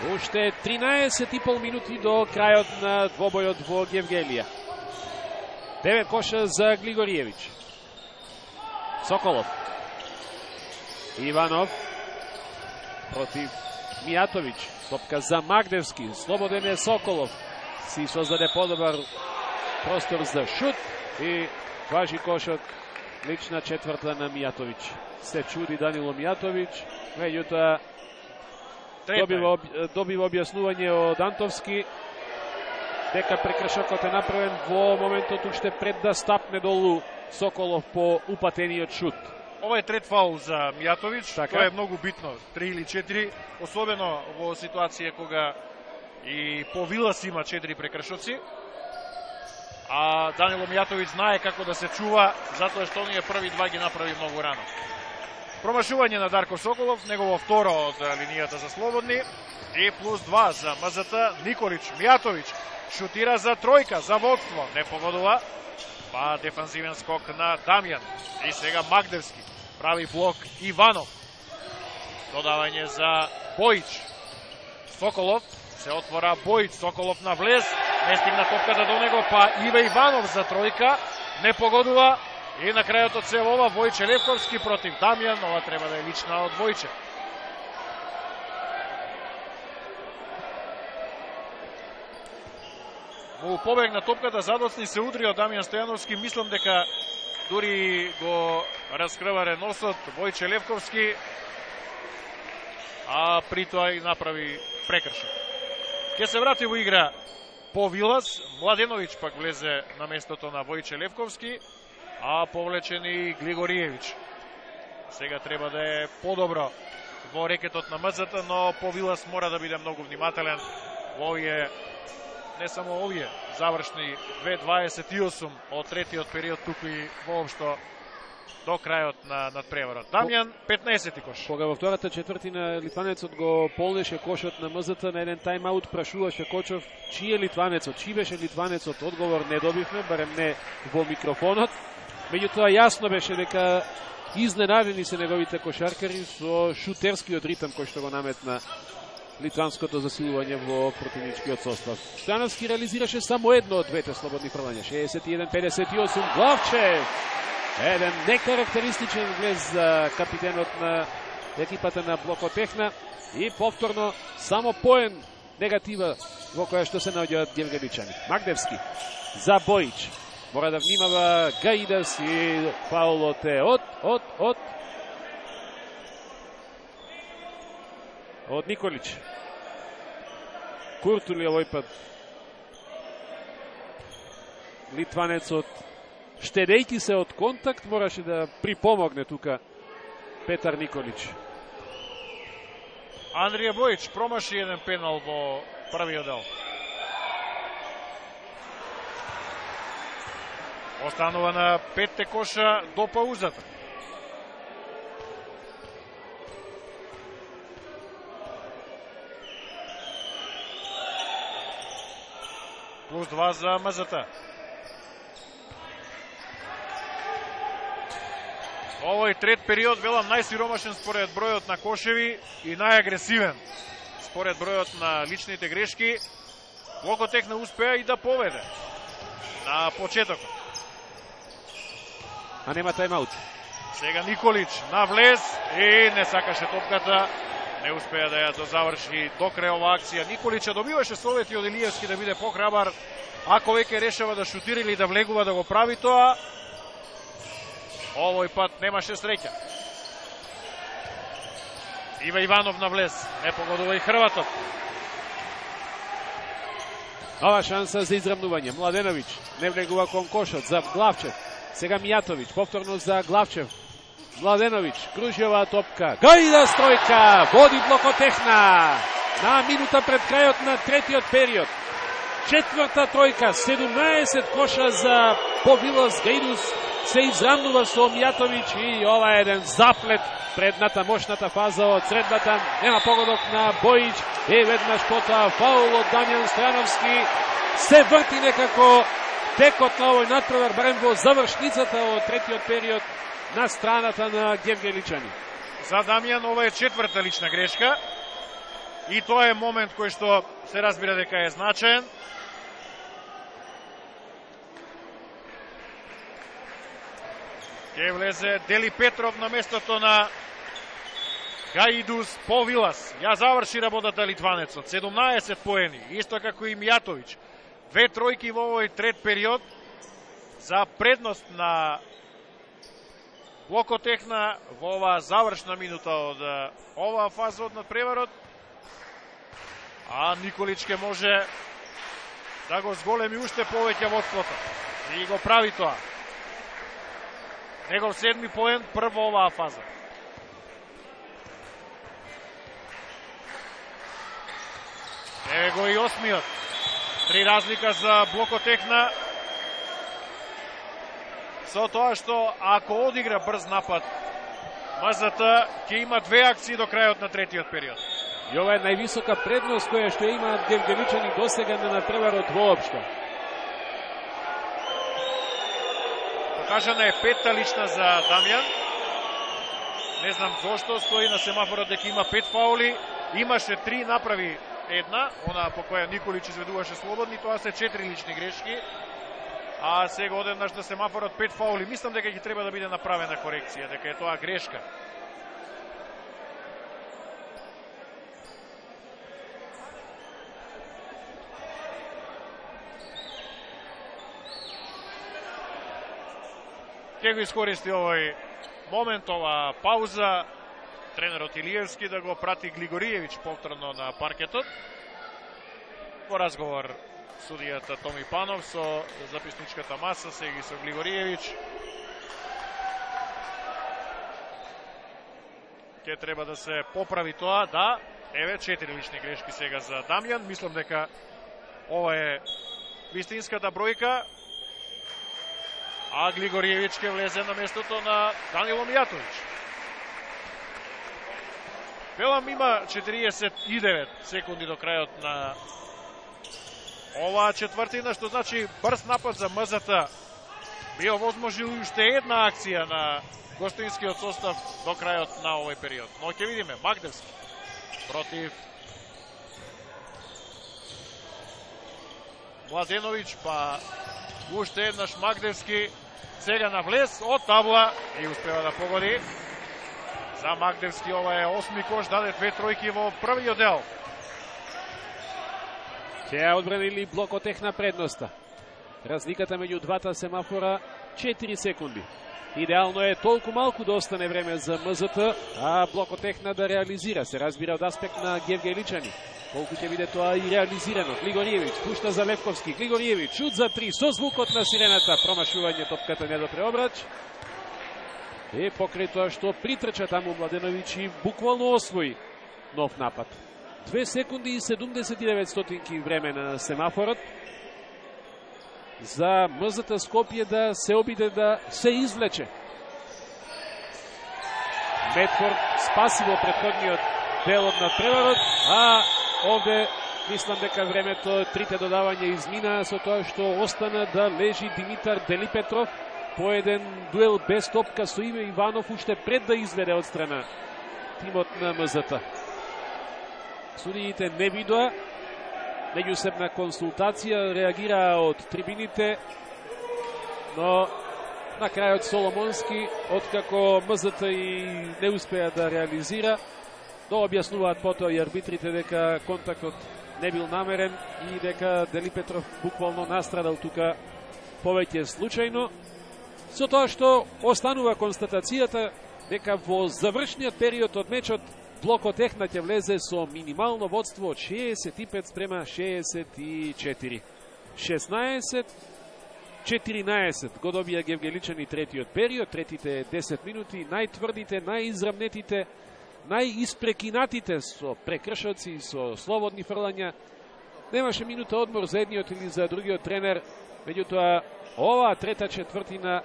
Уште тринаесет и пол минути до крајот на двобојот во Гевгелија. Девет коша за Глигориевич. Соколов. Иванов против Мијатовиќ. Топка за Магдевски. Слободен е Соколов. Си создаде подобар простор за шут и важи кошот. Лична четврта на Мијатовиќ. Се чуди Данило Мијатовиќ. Меѓутоа добива, добива објаснување од Антовски дека прекршокот е направен во моментот уште пред да стапне долу Соколов по упатениот шут. Ова е трет фаул за Мијатовиќ, така. Тоа е многу битно, три или четири, особено во ситуација кога и по Вилас има четири прекршоци, а Данило Мијатовиќ знае како да се чува, затоа што оние први два ги направи многу рано. Промашување на Дарко Соколов, негово второ од линијата за слободни, и плюс два за МЗТ. Николич, Мијатовиќ шутира за тројка, за водство, не погодува, па дефанзивен скок на Дамјан. И сега Магдевски прави блок Иванов. Додавање за Бојич. Соколов се отвора Бојич, Соколов на влез, не стигна топката до него, па Иве Иванов за тројка, не погодува. И на крајот од се ова Војче Левковски против Дамјан, ова треба да е лична од Војче. Му побегна топката, задоцни се удри од Дамјан Стојановски, мислам дека дури го раскрваре носот Војче Левковски, а при тоа и направи прекршок. Ке се врати во игра по Вилас, Младеновиќ пак влезе на местото на Војче Левковски, а повлечен и Глигориевич. Сега треба да е подобро во рекетот на МЗТ, но по Вилас мора да биде многу внимателен во овие, не само овие, завршни две дваесет и осум од третиот период, туку и воопшто до крајот на надпреварот. Дамјан, петнаесети кош. Кога во втората четвртина литванецот го полнеше кошот на МЗТ на еден тайм-аут, прашуваше Кочов чиј е литванецот, чиј беше литванецот, одговор не добивме, барем не во микрофонот. Меѓутоа јасно беше дека Изненадени се неговите кошаркари со шутерскиот ритм кој што го наметна литванското засилување во противничкиот состав. Стојановски реализираше само едно од двете слободни фрлања. шеесет и еден педесет и осум. Главчев! Еден некарактеристичен влез за капитенот на екипата на Блокотехна и повторно само поен негатива во која што се наоѓаат гевгеличани. Магдевски за Бојич. Мора да внимава Гаидас и фаулот е од, од, од од Николич. Куртули овој пат. Литванецот, штедејќи се од контакт, мораше да припомогне тука Петар Николич. Андрија Бојич промаши еден пенал во првиот дел. Останува на петте коша до паузата. Плюс два за МЗТ. Овој трет период, велам, најсиромашен според бројот на кошеви и најагресивен според бројот на личните грешки. Блокотехна успеа и да поведе на почетокот. А нема тајмаут. Сега Николич на влез и не сакаше топката. Не успеа да ја дозаврши до крај ова акција. Николича добиваше совети од Илиевски да биде похрабар. Ако веќе решава да шутира или да влегува да го прави тоа, овој пат немаше среќа. Ива Иванов на влез. Не погодува и Хрватот. Нова шанса за израмнување. Младеновиќ не влегува кон кошот за Главчев. Сега Мијатовиќ, повторно за Главчев. Младеновиќ, кружи оваа топка. Гајда стројка, води Блокотехна. На минута пред крајот на третиот период. Четврта тројка, седумнаесет коша за Повилос Гајдус. Се израмнува со Мијатовиќ и ова е еден заплет предната мощната фаза од средбата. Нема погодок на Бојич. И веднаш потоа фаул од Дамјан Стојановски. Се врти некако текот на овој натпревар, барем во завршницата од третиот период на страната на гевгеличани. За Дамјан ова е четврта лична грешка и тоа е момент кој што се разбира дека е значаен. Ке влезе Дели Петров на местото на Гаидус Повилас. Ја заврши работата литванецот. седумнаесет поени, исто како и Мијатовиќ. Две тројки во овој трет период за предност на Блокотехна во оваа завршна минута од оваа фаза од надпреварот. А Николич ке може да го зголеми уште повеќе водството. И го прави тоа. Негов седми поен прво оваа фаза. Еве го и осмиот. Три разлика за Блокотехна. Со тоа што ако одигра брз напад, МЗТ ќе има две акции до крајот на третиот период. И ова е највисока предност која што имаат гевгеличани досега на надпреварот воопшто. Покажана е петта лична за Дамјан. Не знам зошто стои на семафорот дека има пет фаули. Имаше три, направи една, она по која Николич изведуваше слободни, тоа се четири лични грешки. А сега одеднаш на семафорот пет фаули. Мислам дека ќе треба да биде направена корекција, дека е тоа грешка. Ке го искористи овој момент, ова пауза, тренерот Илиевски да го прати Глигориевич повторно на паркетот. Во разговор судијата Томи Панов со записничката маса, сега и со Глигориевич. Ке треба да се поправи тоа, да. Еве, четири лични грешки сега за Дамјан. Мислам дека ова е вистинската бројка. А Глигориевич ке влезе на местото на Данило Мијатовиќ. Велам, има четириесет и девет секунди до крајот на оваа четвртина, што значи брз напад за МЗТ би овозможил уште една акција на гостинскиот состав до крајот на овој период. Но ќе видиме, Магдевски против Младеновиќ, па уште еднаш Магдевски, сега на влез од табла и успева да погоди. За Магдевски ова е осми кош, даде две тројки во првиот дел. Ќе одбранили Блокотехна предноста. Разликата меѓу двата семафора четири секунди. Идеално е толку малку да остане време за МЗТ, а Блокотехна да реализира. Се разбира од аспект на Гевгеличани. Колку ќе биде тоа и реализирано. Глигориевиќ пушта за Левковски. Глигориевиќ шут за три со звукот на сирената. Промашување, топката не до преобрач. И покрај тоа што притрча таму Младеновиќ и буквално освои нов напад. две секунди и седумдесет и девет стотинки време на семафорот за МЗТ Скопје да се обиде да се извлече. Медфорд спаси во претходниот дел од надпреварот, а овде мислам дека времето, трите додавања измина со тоа што остана да лежи Димитар Делипетров по еден дуел без топка со Иве Иванов уште пред да изведе од страна тимот на МЗТ. Судиите не видоа, меѓусебна консултација реагираа од трибините, но на крајот Соломонски, откако МЗТ и не успеа да реализира, да објаснуваат потоа и арбитрите дека контактот не бил намерен и дека Делипетров буквално настрадал тука повеќе случајно, со тоа што останува констатацијата дека во завршниот период од мечот Блокотехна ќе влезе со минимално водство од шеесет и пет спрема шеесет и четири. шеснаесет четиринаесет го добија Гевгеличани третиот период, третите десет минути, најтврдите, најизрамнетите, најиспрекинатите со прекршоци и со слободни фрлања. Немаше минута одмор за едниот или за другиот тренер, меѓутоа оваа трета четвртина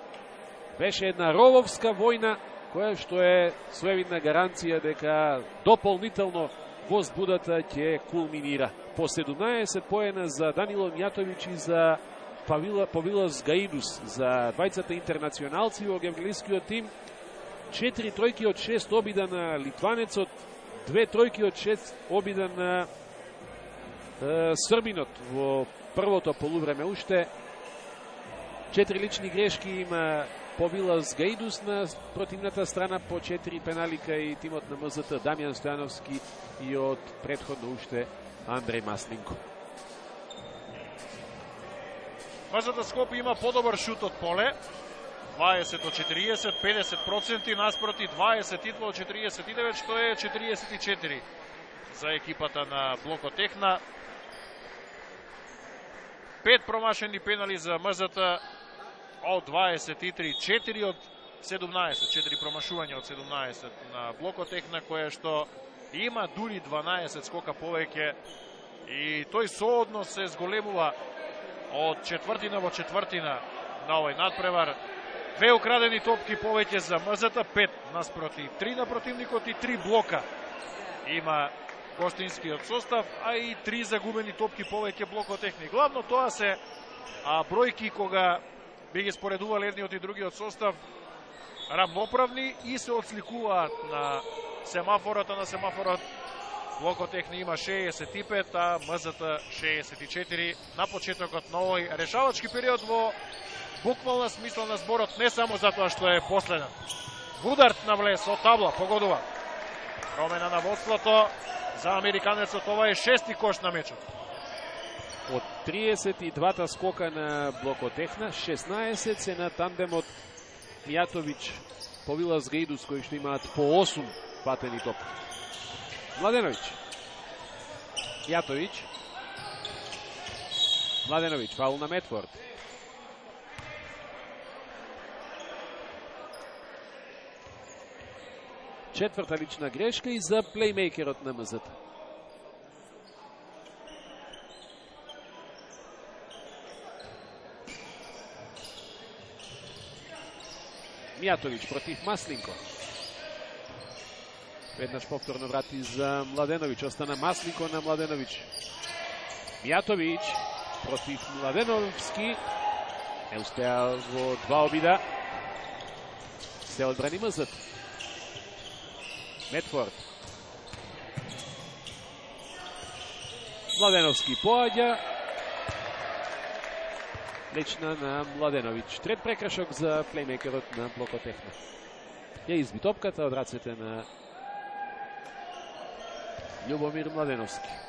беше една рововска војна, која што е своевидна гаранција дека дополнително возбудата ќе кулминира. По седумнаесет поена за Данило Мјатовиќ и за Павилос Гаидус, за двајцата интернационалци во гевгелискиот тим. Четири тројки од шест обида на литванецот, две тројки од шест обида на е, србинот во првото полувреме уште. Четири лични грешки има Павилос Гаидус на противната страна, по четири пеналика и тимот на МЗТ Дамјан Стојановски и од претходно уште Андреј Маслинко. МЗТ Скопје има подобар шут од поле, дваесет од четириесет, педесет проценти наспроти дваесет и два од четириесет и девет, што е четириесет и четири за екипата на Блокотехна. Пет промашени пенали за МЗТ од дваесет и три, четири од седумнаесет, четири промашувања од седумнаесет на Блокотехна, која што има дури дванаесет скока повеќе и тој сооднос се зголемува од четвртина во четвртина на овој надпревар. Две украдени топки повеќе за МЗТ, пет наспроти три на противникот и три блока има гостинскиот состав, а и три загубени топки повеќе Блокотехни. Главно тоа се а, бројки кога би ги споредувал едниот и другиот состав рамноправни и се отсликуваат на семафорот, на семафорот Блокотехни има шеесет и пет, а МЗТ шеесет и четири на почетокот на овој решавачки период во буквална смисла на зборот, не само затоа што е последен. Вударт на влез од табла, погодува. Промена на водството за американецот, ова е шести кош на мечот. Од триесет и двата скока на Блокотехна, шеснаесет се на тандемот Мјатовиќ, Павилос Гаидус, кои што имаат по осум патени топ. Младеновиќ, Мјатовиќ, Младеновиќ, фаул на Медфорд. Четврта лична грешка и за плеймейкерот на МЗТ. Мјатовиќ против Маслинко. Веднаш повторно врати за Младеновиќ. Остана Маслинко на Младеновиќ. Мјатовиќ против Младеновски. Не успеа во два обида. Се одбрани МЗ. Медфорд. Младеновски поаѓа. Лична на Младеновиќ. Трет прекршок за плеймейкерот на Блокотехна. Ја изби топката од рацете на Љубомир Младеновски.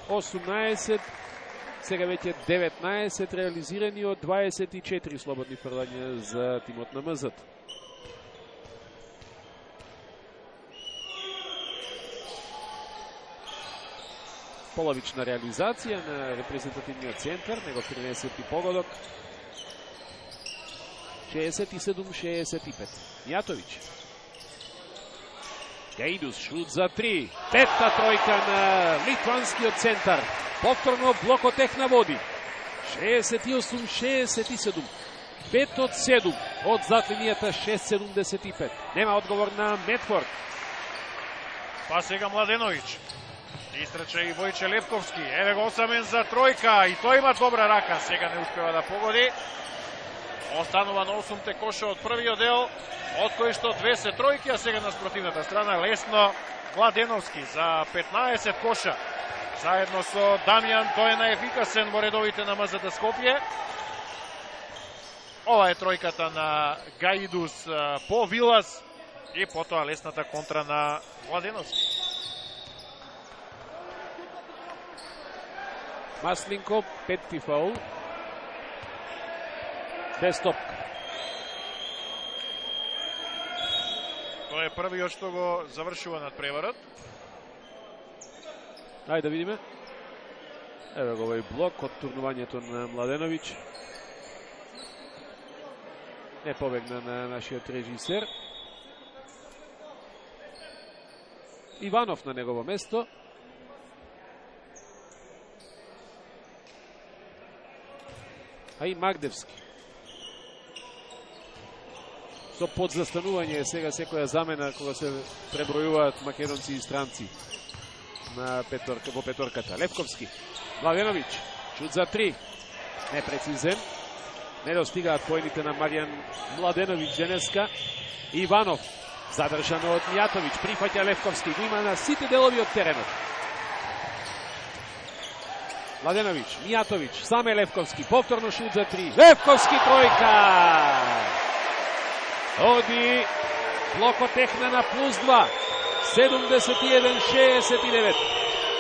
осумнаесет, сега веќе деветнаесет реализирани од дваесет и четири слободни фрлања за тимот на МЗ. Половична реализација на репрезентативниот центар, негов тринесети погодок. шеесет и седум шеесет и пет. Мијатовиќ. Гаидус, шут за три. Петта тројка на литванскиот центар. Повторно Блокотехна води. шеесет и осум шеесет и седум. пет од седум од зад линијата, шест седумдесет и пет. Нема одговор на Медфорд. Па сега Младеновиќ. Истрача и Војче Левковски. Еве го осамен за тројка и тој има добра рака. Сега не успева да погоди. Останува на осумте коша од првиот дел, од кои што две се тројки, а сега на спротивната страна лесно Младеновски за петнаесет коша. Заедно со Дамјан, тој е наефикасен во редовите на МЗ Скопје. Ова е тројката на Гаидус по Вилас и потоа лесната контра на Младеновски. Масленко, петти фаул. Без топка. Тоа е првиот што го завршува над преварот. Ајде да видиме. Еве го овој блок од турнувањето на Младеновиќ. Не побегна на нашиот режисер. Иванов на негово место. А и Магдевски. Со подзастанување сега секоја замена кога се пребројуваат македонци и странци на петорка, во петорката. Левковски, Младеновиќ, шут за три, непрецизен, не достигаат поените на Маријан Младеновиќ денеска. Иванов, задржано од Мијатовиќ, прифаќа Левковски, го има на сите делови од теренот. Младеновиќ, Мијатовиќ, саме Левковски, повторно шут за три. Левковски тројка! Оди Блокотехна на плюс два. седумдесет и еден шеесет и девет.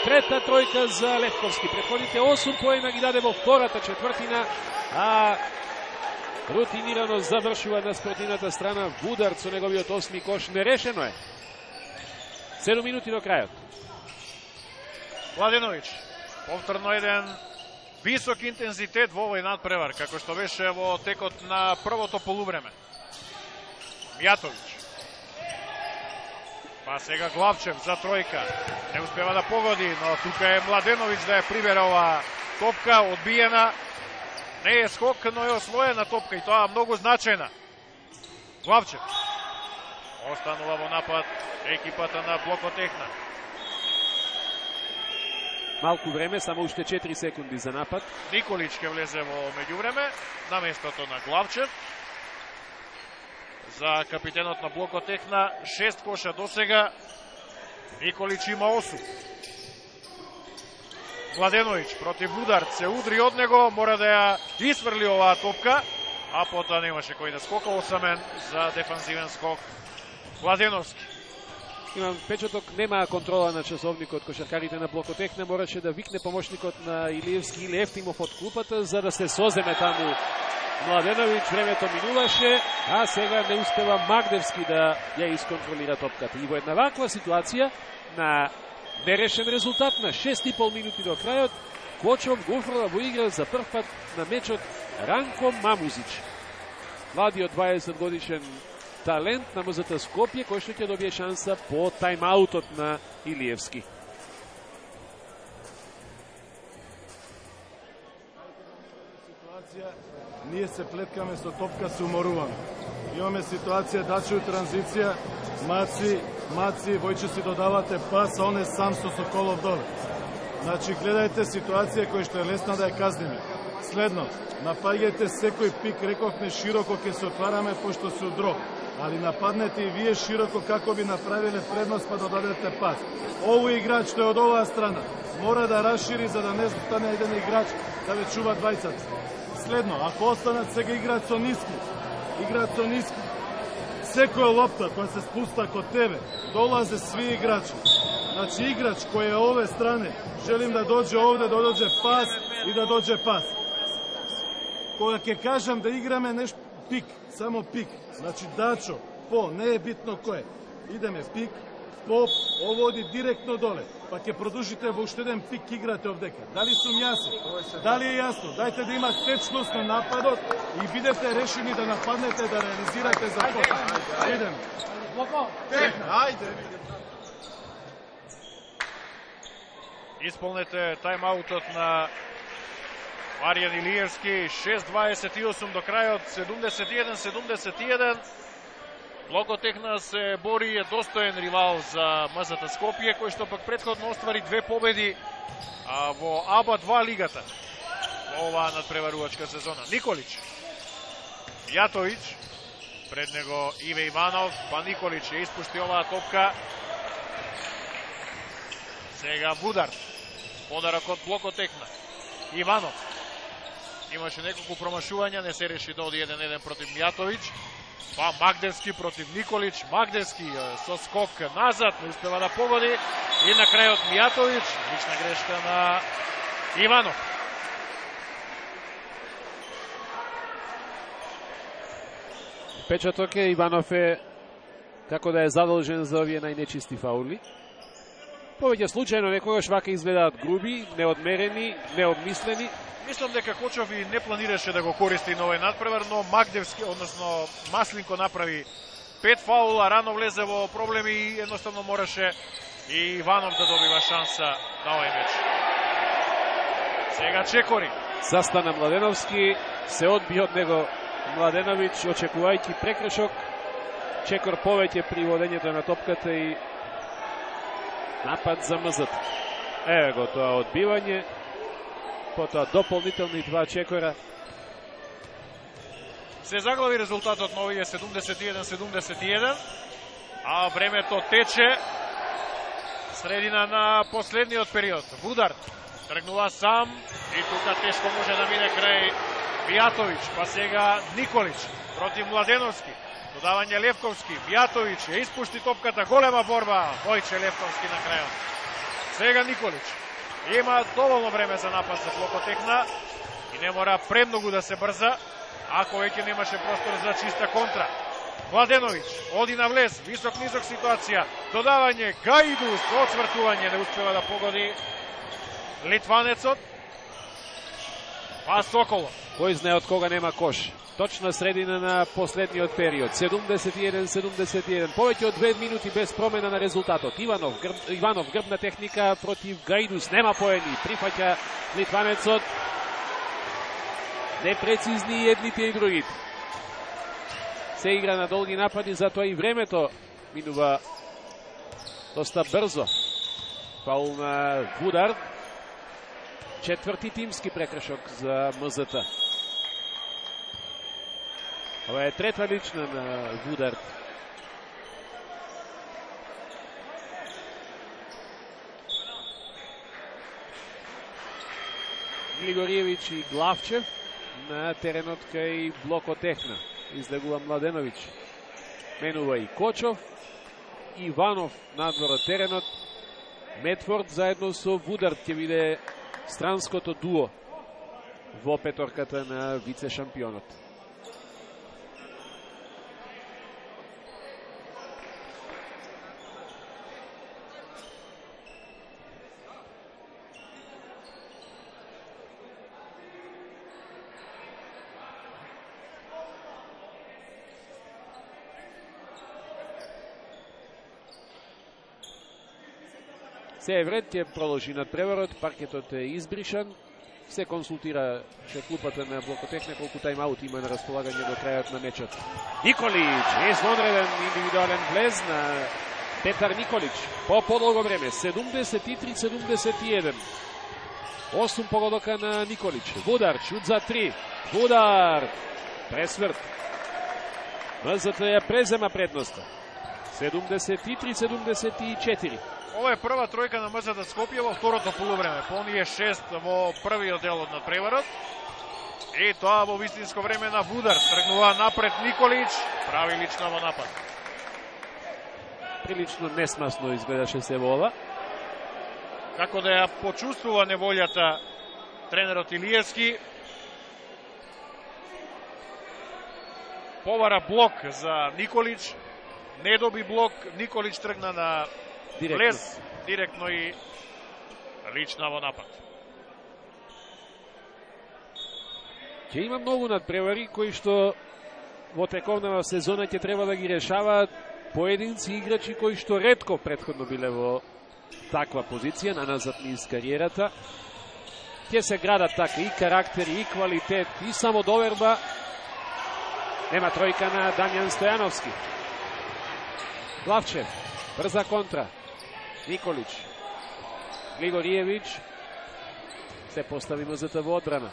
Трета тројка за Левковски. Претходните осум поена ги даде во втората четвртина, а рутинирано завршува на спротивната страна Вудард со неговиот осми кош. Нерешено е. седум минути до крајот. Младеновиќ, повторно еден висок интензитет во овој надпревар, како што беше во текот на првото полувреме. Мијатовиќ. Па сега Главчев за тројка. Не успева да погоди, но тука е Младеновиќ да ја прибере ова топка, одбиена. Не е скок, но е освоена топка и тоа многу значајна. Главчев. Останува во напад екипата на Блокотехна. Малку време, само уште четири секунди за напад. Николич ќе влезе во меѓувреме на местото на Главчев. За капитенот на Блокотехна, шест коша до сега. Николич има осум. Младеновиќ против Вудард се удри од него, мора да ја исфрли оваа топка, а потоа немаше кој да скока, осамен за дефанзивен скок Младеновски. Имам впечаток, нема контрола на часовникот кошаркарите на Блокотехна, мораше да викне помошникот на Илиевски или Ефтимов од клупата за да се соземе таму Младеновиќ. Времето минуваше, а сега не успева Магдевски да ја исконтролира топката. И во една ваква ситуација на нерешен резултат на шест и пол минути до крајот, Кочов го уфрла во игра за прв пат на мечот Ранко Мамузич. Младиот дваесет годишен талент на МЗ Скопје, кој што ќе добие шанса по тајмаутот на Илиевски. Ние се плеткаме со топка, се уморуваме. Имаме ситуација, Даче у транзиција, Маци Маци, Војче си додавате пас, а он е сам со Соколов доле. Значи, гледајте ситуација која што е лесна да ја казниме. Следно, напаѓајте секој пик, рековме широко ќе се отвараме пошто се удрок. Али нападнете и вие широко како би направиле предност па додадете пас. Овој играч што е од оваа страна мора да расшири за да не стане еден играч да ве чува двајцата. Следно, ако останат сега играат со ниски, играат со ниски, секоја лопта која се спуста код тебе, долазе сви играчи. Значи играч кој е ове стране, желим да доđe овде, да доđe пас и да доđe пас. Кога ќе кажам да играме нешто пик, само пик, значи Дачо, по, не е битно кој. Идеме пик, по, ово оди директно доле, па ќе продолжите во уште еден пик играте овдека. Дали сум јасен? Дали е јасно? Дајте да има течност на нападот и бидете решени да нападнете, да реализирате за тоа. Идеме. Ајде. Исполнете тайм-аутот на Маријан Илиевски. шест дваесет и осум до крајот, седумдесет и еден седумдесет и еден. Блокотехна се бори, е достоен ривал за МЗТ Скопје, кој што пак претходно оствари две победи а, во АБА два лигата во оваа надпреварувачка сезона. Николич, Јатовиќ, пред него Иве Иванов, па Николич ја испушти оваа топка. Сега Вудар, подарок од Блокотехна. Иванов, имаше неколку промашувања, не се реши да оди еден еден против Мјатовиќ. Па Магдевски против Николич, Магдевски со скок назад, не успева да погоди. И на крајот Мјатовиќ, лична грешка на Иванов. Печаток е, Иванов е како да е задолжен за овие најнечисти фаули. Повеќе случајно некогаш вака изгледаат груби, неодмерени, необмислени. Мислам дека Кочов и не планираше да го користи на овој надпревар, но Магдевски, односно Маслинко направи пет фаула, рано влезе во проблеми и едноставно мораше и Иванов да добива шанса на овој меч. Сега Чекори. Застана Младеновски, се одби од него Младеновиќ, очекувајќи прекршок. Чекор повеќе при водењето на топката и напад за МЗТ. Еве го тоа одбивање. Потоа дополнителни два Чекора. Се заглави резултатот на овие седумдесет и еден седумдесет и еден, а времето тече. Средина на последниот период. Вудар тргнува сам и тука тешко може да мине крај Мјатовиќ, па сега Николич против Младеновски. Додавање Левковски, Мјатовиќ ја испушти топката, голема борба, Војче Левковски на крајот. Сега Николич има доволно време за напад за Блокотехна и не мора премногу да се брза, ако веќе немаше простор за чиста контра. Младеновиќ оди на влез, висок-низок ситуација, додавање Гаидус, оцвртување, не успева да погоди литванецот. Па Соколов. Кој знае од кога нема кош. Точна средина на последниот период. седумдесет и еден седумдесет и еден. Повеќе од две минути без промена на резултатот. Иванов, грб, Иванов грбна техника против Гаидус. Нема поени. Прифаќа литванецот. Непрецизни едните и другите. Се игра на долги напади, затоа и времето минува доста брзо. Фаул на Вудар. Четврти тимски прекршок за МЗТ. Ова е трета лична на Вудар. Григориевич и Главчев на теренот кај Блокотехна. Излегува Младеновиќ. Менува и Кочов. Иванов надвор од теренот. Медфорд заедно со Вудар ќе биде странското дуо во петорката на вице-шампионот. Се е вред, ќе продолжи надпреварот, паркетот е избришан. Се консултира ше клупата на Блокотехна колку тајм-аут има на располагање до крајот на мечот. Николич, извонреден индивидуален влез на Петар Николич по подолго време, седумдесет и три седумдесет и еден. осум погодока на Николич. Вудар, шут за три. Вудар, пресврт. МЗТ ја презема предноста. седумдесет и три седумдесет и четири. Ова е прва тројка на МЗТ Скопје во второто полувреме. По оние шест во првиот дел од надпреварот. И тоа во вистинско време на Вудар. Тргнува напред Николич, прави лична во напад. Прилично несмасно изгледаше се во ова. Како да ја почувствува неволјата тренерот Илиевски. Повара блок за Николич. Не доби блок, Николич тргна на Директно. влез, директно и лична во напад. Ќе има многу надпревари кои што во тековна на сезона ќе треба да ги решаваат поединци играчи кои што ретко претходно биле во таква позиција на назад низ кариерата. Ќе се градат така и карактер, и квалитет, и самодоверба. Нема тројка на Дамјан Стојановски. Главчев, брза контра. Николич. Глигориевич. Се постави МЗТ во одбрана.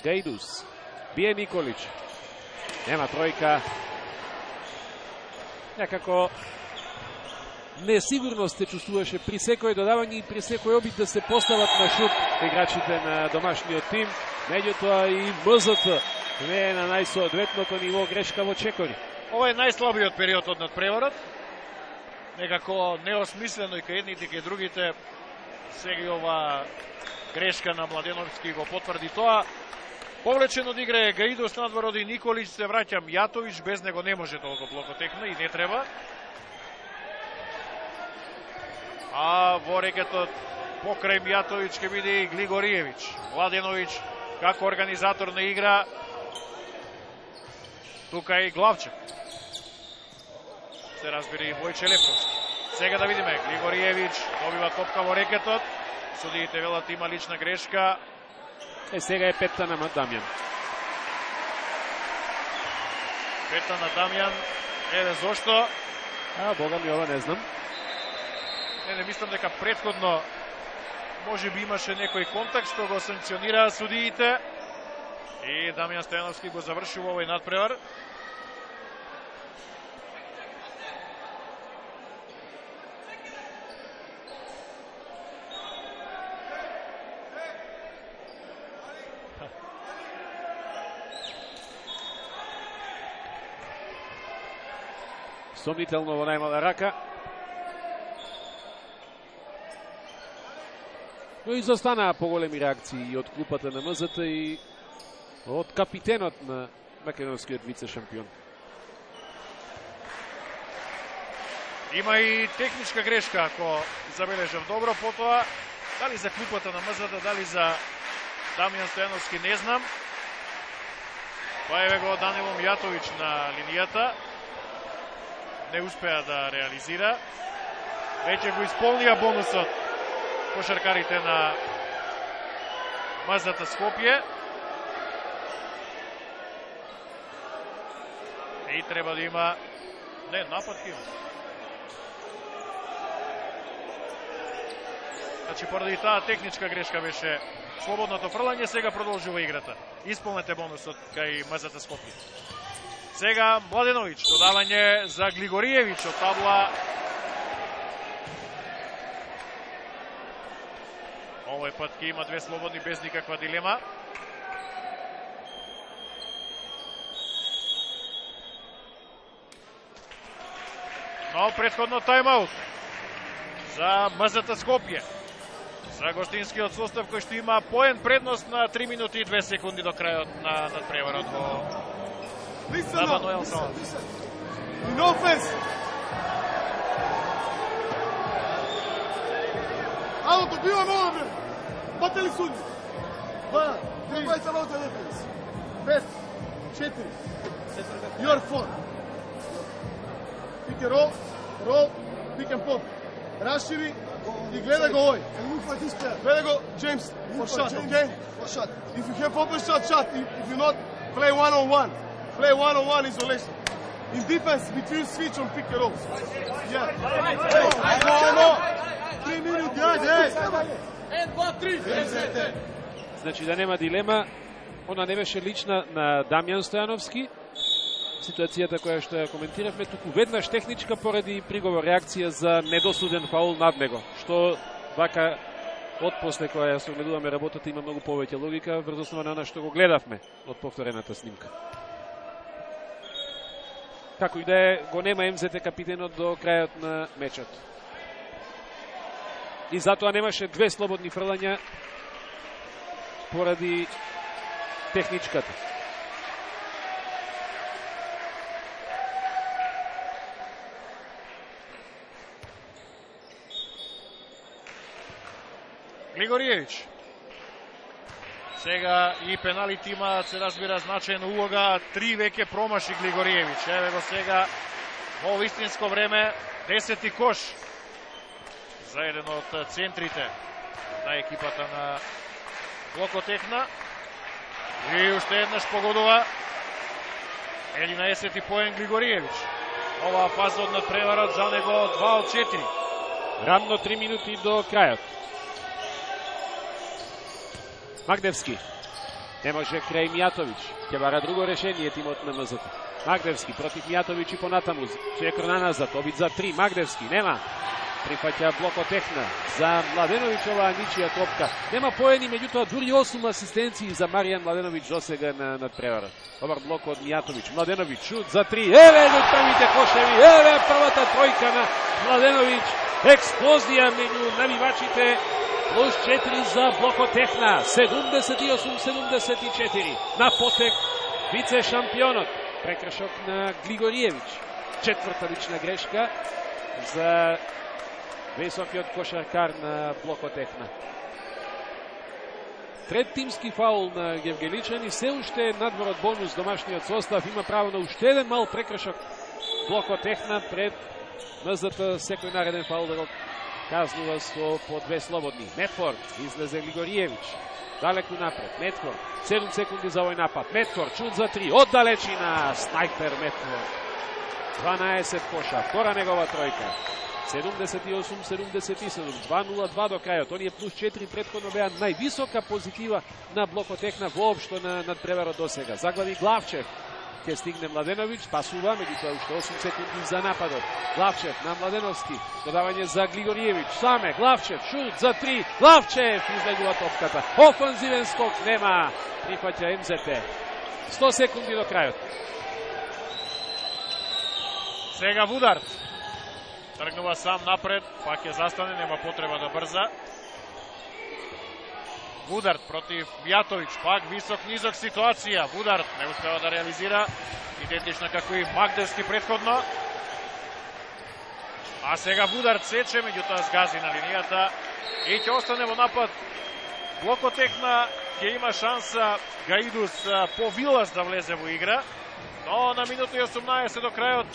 Гајдус. Бие Николич. Нема тројка. Некако несигурност се чувствуваше при секој додавање и при секој обид да се постават на шут играчите на домашниот тим. Меѓутоа и МЗТ не е на најсоодветното ниво, грешка во чекори. Ова е најслабиот период од надпреварот. Некако неосмислено и кај едните и кај другите. Сега и ова грешка на Младеновски го потврди тоа. Повлечен од игра е Гаидос, надвор оди Николич, се враќа Мјатович, без него не може да го блокотекне и не треба. А во рекетот покрај Мјатович ќе биде и Глигориевич. Младенович како организатор на игра. Тука и Главчев. Се разбира и Војче Леповски. Сега да видиме, Глигориевич добива топка во рекетот. Судиите велат има лична грешка. Е, сега е петта на Дамјан. Петта на Дамјан. Еве зошто. А, бога ми, ова не знам. Не, не мислам дека претходно може би имаше некој контакт што го санкционираа судиите. И Дамјан Стојановски го завршува овој надпревар. Сомнително во најмала рака. Но изостанаа поголеми реакции од клупата на МЗТ и од капитенот на македонскиот вице-шампион. Има и техничка грешка, ако забележав добро, потоа дали за клупата на МЗТ, дали за Дамјан Стојановски, не знам. Па еве го Данило Мјатович на линијата. Не успеа да реализира. Веќе го исполнија бонусот кошаркарите на МЗТ Скопје. И треба да има... Не, напад има. Значи, поради таа техничка грешка беше слободното фрлање, сега продолжува играта. Исполнете бонусот кај МЗТ Скопје. Сега Младенович, додавање за Глигориевич од табла. Овој пат ќе има две слободни без никаква дилема. Но претходно тајмаут за МЗТ Скопје. За гостинскиот состав кој што има поен предност на три минути и две секунди до крајот на надпреварот во Listen на up, Мануел listen, Салас. listen. In offense. Ало, добиваме одбран. Бате ли суди? Два, три, двајца валта дефенс. Пет, четири. Your four. Pick and roll, roll, pick and pop. Рашири и гледа го овој. Гледа го, James, for shot, okay? For shot. If you have open shot, shot. If, if you not, play one on one. Play one on one isolation. In defense, between switch on pick and roll. Yeah. Hey, no, no. Three minutes, guys. Hey. And one, three. Значи да нема дилема, она не беше лична на Дамјан Стојановски. Ситуацијата која што ја коментиравме, туку веднаш техничка поради приговор реакција за недосуден фаул над него, што вака отпосле која ја согледуваме работата има многу повеќе логика врз основа на она што го гледавме од повторената снимка. Како и да е, го нема Ем Зет Те капитенот до крајот на мечот. И затоа немаше две слободни фрлања поради техничката. Глигориевич. Сега и пеналите имаат, се разбира, значајна улога. Три веќе промаши Глигориевич. Еве го сега во вистинско време. Десети кош за еден од центрите на екипата на Блокотехна. И уште еднаш погодува. единаесети поен Глигориевич. Ова фаза од надпреварот за него два од четири. Рамно три минути до крајот. Магдевски. Не може крај Мијатовиќ. Ќе бара друго решение тимот на Ем Зет Те. Магдевски против Мијатовиќ и понатаму. Чекор на назад. Обид за три. Магдевски. Нема. Прифаќа Блокотехна. За Младеновиќ оваа ничија топка. Нема поени, меѓутоа дури осум асистенции за Маријан Младеновиќ досега на надпреварот. Добар блок од Мијатовиќ. Младеновиќ шут за три. Еве го првите кошеви. Еве првата тројка на Младеновиќ. Експлозија меѓу навивачите. Плюс четири за Блокотехна. седумдесет и осум седумдесет и четири. На потек вице шампионот. Прекршок на Глигориевич. Четврта лична грешка за високиот кошаркар на Блокотехна. Трет тимски фаул на Гевгеличани. Се уште надвор од бонус домашниот состав. Има право на уште еден мал прекршок Блокотехна пред Ем Зет Те секој нареден фаул да го казнува со по две слободни. Метфорд излезе Глигориевич. Далеку напред. Метфорд. седум секунди за овој напад. Метфорд шут за три. Од далечина. Снайпер Метфорд. дванаесет коша. Втора негова тројка. седумдесет и осум седумдесет и седум. два нула два до крајот. Оние плюс четири претходно беа највисока позитива на Блокотехна воопшто на надпреварот досега. Заглави Главчев. Ке стигне Младеновиќ, пасува, меѓутоа уште осум секунди за нападот. Главчев на Младеновски, додавање за Глигориевич, саме Главчев, шут за три, Главчев излегува топката. Офанзивен скок нема, прифаќа Ем Зет Те. сто секунди до крајот. Сега Вударт. Тргнува сам напред, пак ќе застане, нема потреба да брза. Вударт против Мијатовиќ, пак висок-низок ситуација. Вударт не успева да реализира, идентична како и Магдевски претходно. А сега Вударт сече, меѓутоа сгази на линијата и ќе остане во напад. Блокотехна ќе има шанса Гаидус по Вилас да влезе во игра, но на минута и осумнаесет до крајот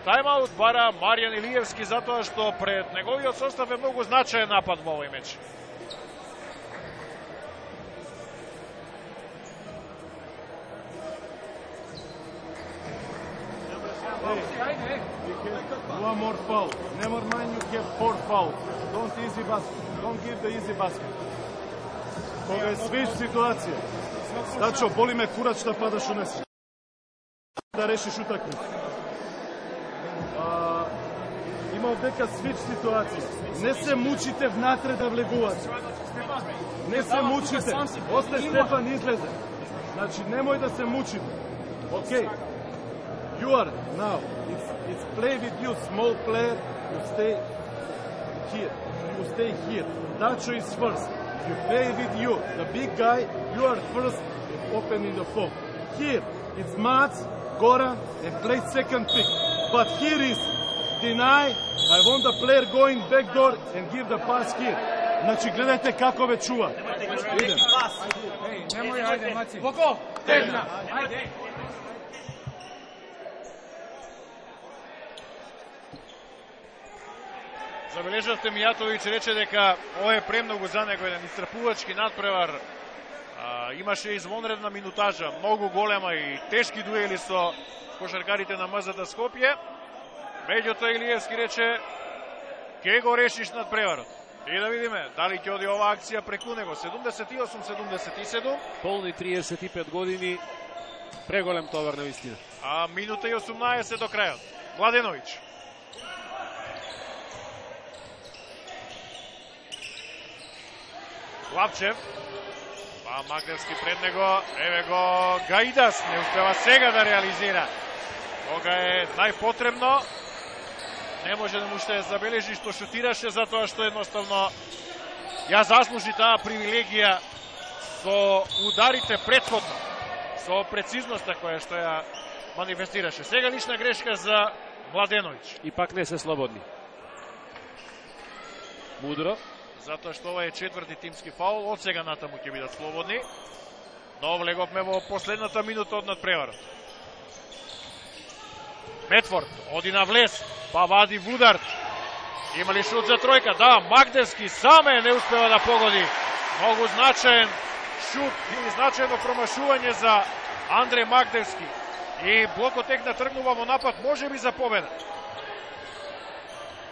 тајмаут бара Маријан Илиевски затоа што пред неговиот состав е многу значаен напад во овој меч. One more foul. Never mind, you have four fouls. Don't easy basket. Don't give the easy basket. Кога е свич ситуација. Дачо, боли ме курач да падаш унеси. Да решиш утакмица. Има овдека свич ситуација. Не се мучите внатре да влегувате. Не се мучите. Осте Стефан излезе. Значи, немој да се мучите. Окей. Okay. You are now, it's, it's play with you, small player, you stay here, you stay here. Dacho is first, you play with you, the big guy, you are first, opening the phone. Here, it's Mats, Goran, and play second pick. But here is deny, I want the player going back door and give the pass here. Znači, gledajte kako već čuva. Idem. Nemoj, ajde, Maci. Boko, Tehna, ajde. Забележавте, Мијатовиќ рече дека ова е премногу за него, еден исцрпувачки надпревар А, имаше извонредна минутажа, многу голема и тешки дуели со кошаркарите на МЗТ Скопје. Меѓутоа Илиевски рече, ке го решиш над преварот. И да видиме дали ќе оди оваа акција преку него. седумдесет и осум седумдесет и седум. Полни триесет и пет години, преголем товар на вистина. А минута и осумнаесет до крајот. Младеновиќ. Главчев. Па Магдевски пред него. Еве го Гаидас. Не успева сега да реализира. Кога е најпотребно. Не може да му ще забележи што шутираше, затоа што едноставно ја заслужи таа привилегија со ударите претходно, со прецизноста која што ја манифестираше. Сега лична грешка за Младеновиќ. И пак не се слободни. Мудро. Затоа што ова е четврти тимски фаул, од сега натаму ќе бидат слободни. Но влеговме во последната минута од надпреварот. Метфорд оди на влез, па вади Вударт. Има ли шут за тројка? Да, Магдевски саме не успева да погоди. Многу значаен шут и значаено промашување за Андре Магдевски. И Блокотехна тргнува во напад, може би за победа.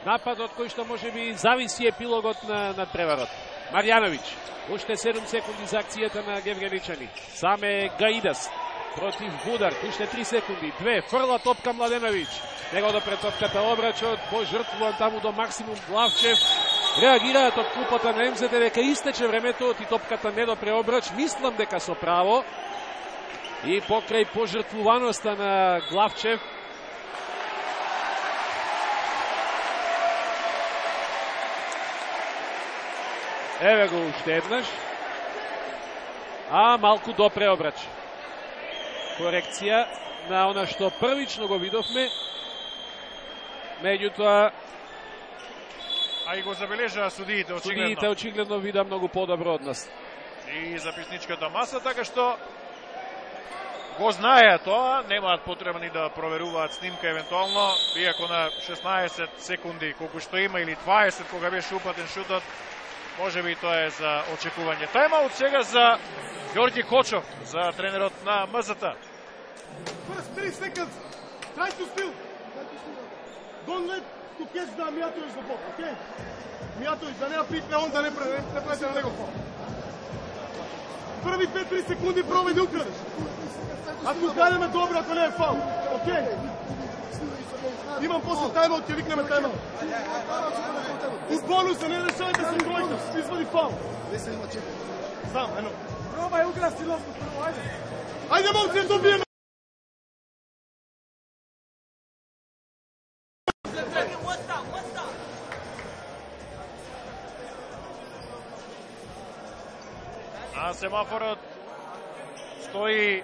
Нападот кој што може би зависи епилогот на надпреварот. Марјановиќ, уште седум секунди за акцијата на гевгеличани. Саме Гаидас против Вудар, уште три секунди, две, фрла топка Младеновиќ. Него до пред топката обрачот, пожртвуван таму до максимум Главчев. Реагираат од клупата на МЗТ дека истече времето и топката не до преобрач. Мислам дека со право. И покрај пожртвуваноста на Главчев, еве го уште еднаш. А малку до преобрач. Корекција на она што првично го видовме. Меѓутоа, а и го забележаа судиите очигледно. Судиите очигледно вида многу подобро од нас. И записничката маса, така што го знаеа тоа, немаат потреба ни да проверуваат снимка евентуално, иако на шеснаесет секунди колку што има или дваесет кога беше упатен шутот, може би тоа е за очекување. Тајмаут сега за Ѓорѓи Кочов, за тренерот на МЗТ. First thirty seconds. Try to steal. Don't let to catch the Mijatović the ball, okay? Mijatović да не ја припне, он да не прави, не прави на него фаул. Први пет-три секунди пробај да украдеш. Ако украдеме добро, ако не е фаул, окей? Имам после тајмаут, ќе викнеме тајмаут. У бонуса не решавајте со тројка, извади фаул. Знам, ено. Пробај украсти лопта, прво, ајде. Ајде, момци, да добиеме. На семафорот стои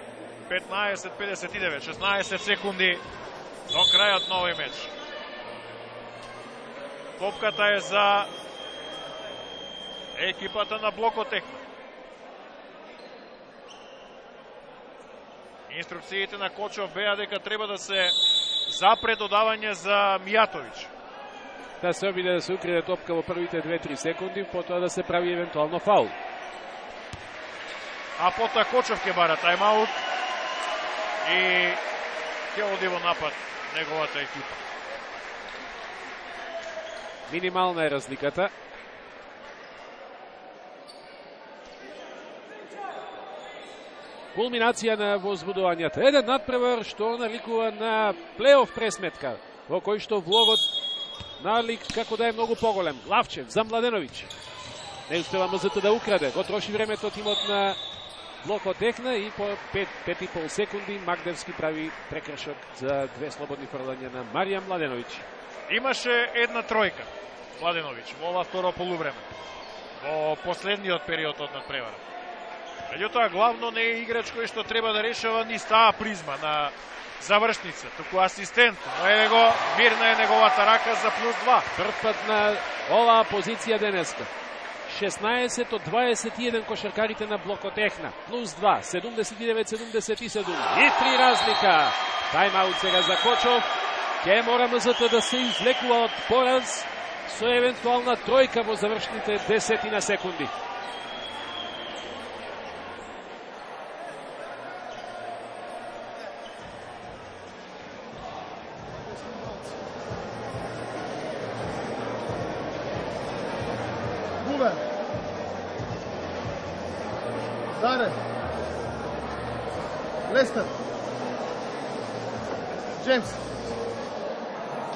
петнаесет педесет и девет, шеснаесет секунди до крајот на овој меч. Топката е за екипата на Блокотехна. Инструкциите на Кочов беа дека треба да се запре додавање за Mijatović. Да се обиде да се укриде топка во првите две-три секунди, потоа да се прави евентуално фаул. А потоа Кочов ќе бара тајмаут и ќе оди во напад неговата екипа. Минимална е разликата. Кулминација на возбудувањата. Еден надпревар што наликува на плейоф пресметка, во кој што влогот налик како да е многу поголем. Главчев за Младеновиќ. Не успева МЗТ да украде. Го троши времето тимот на Блокотехна и по пет и пол секунди Магдевски прави прекршок за две слободни фрлања на Марија Младеновиќ. Имаше една тројка Младеновиќ во ова второ полувреме, во последниот период од надпреварот. Меѓутоа, главно не е играч кој што треба да решава ни стаа призма на завршница, туку асистент. Но еве го, мирна е неговата рака за плюс два. Прв пат на оваа позиција денеска. шеснаесет од дваесет и еден кошаркарите на Блокотехна. Плюс два, седумдесет и девет седумдесет и седум. И три разлика. Тајмаут сега за Кочов. Ке мора МЗТ да се извлекува од пораз со евентуална тројка во завршните десетина секунди. Dare. Lester. James.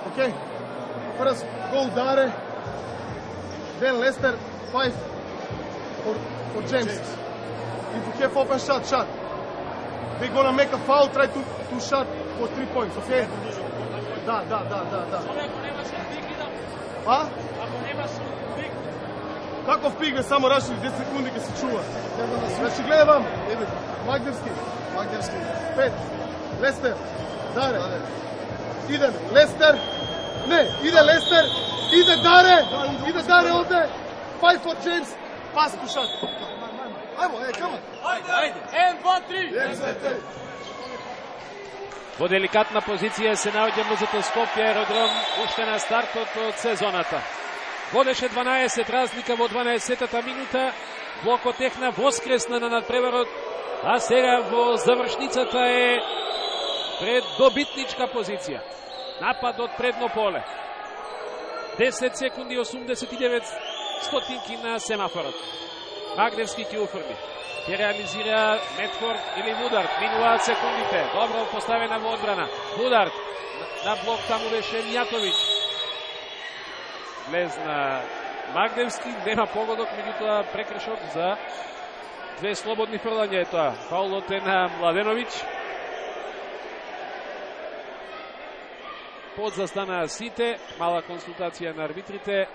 Okay. First go Dare. Then Lester. Five for, for James. James. If you have open shot, shot. They're gonna make a foul, try to, to shot for three points, okay? Da, da, da, da, da. А? Каков пик бе, само рашили десет секунди ке се чува. Значи гледа вам, еве, Магдевски. Магдевски. Пет. Лестер. Даре. Идем, Лестер. Не, иде Лестер. Иде Даре. Иде Даре овде. Five for James. Pass to shot. Ајмо, е, come on. Ајде, ајде. еден, два, три. Во деликатна позиција се наоѓа МЗТ Скопје Аеродром уште на стартот од сезоната. Водеше дванаесет разлика во дванаесеттата минута. Блокотехна воскресна на надпреварот, а сега во завршницата е пред добитничка позиција. Напад од предно поле. десет секунди осумдесет и девет стотинки на семафорот. Магдевски ќе уфрли. Ќе реализира Медфорд или Вудард. Минуваат секундите. Добро поставена во одбрана. Вудард на блок таму беше Мијатовиќ. Влезна Магдевски, нема погодок, меѓутоа прекршок за две слободни фрлања е тоа. Фаулот е на Младеновиќ. Подзастанаа сите, мала консултација на арбитрите.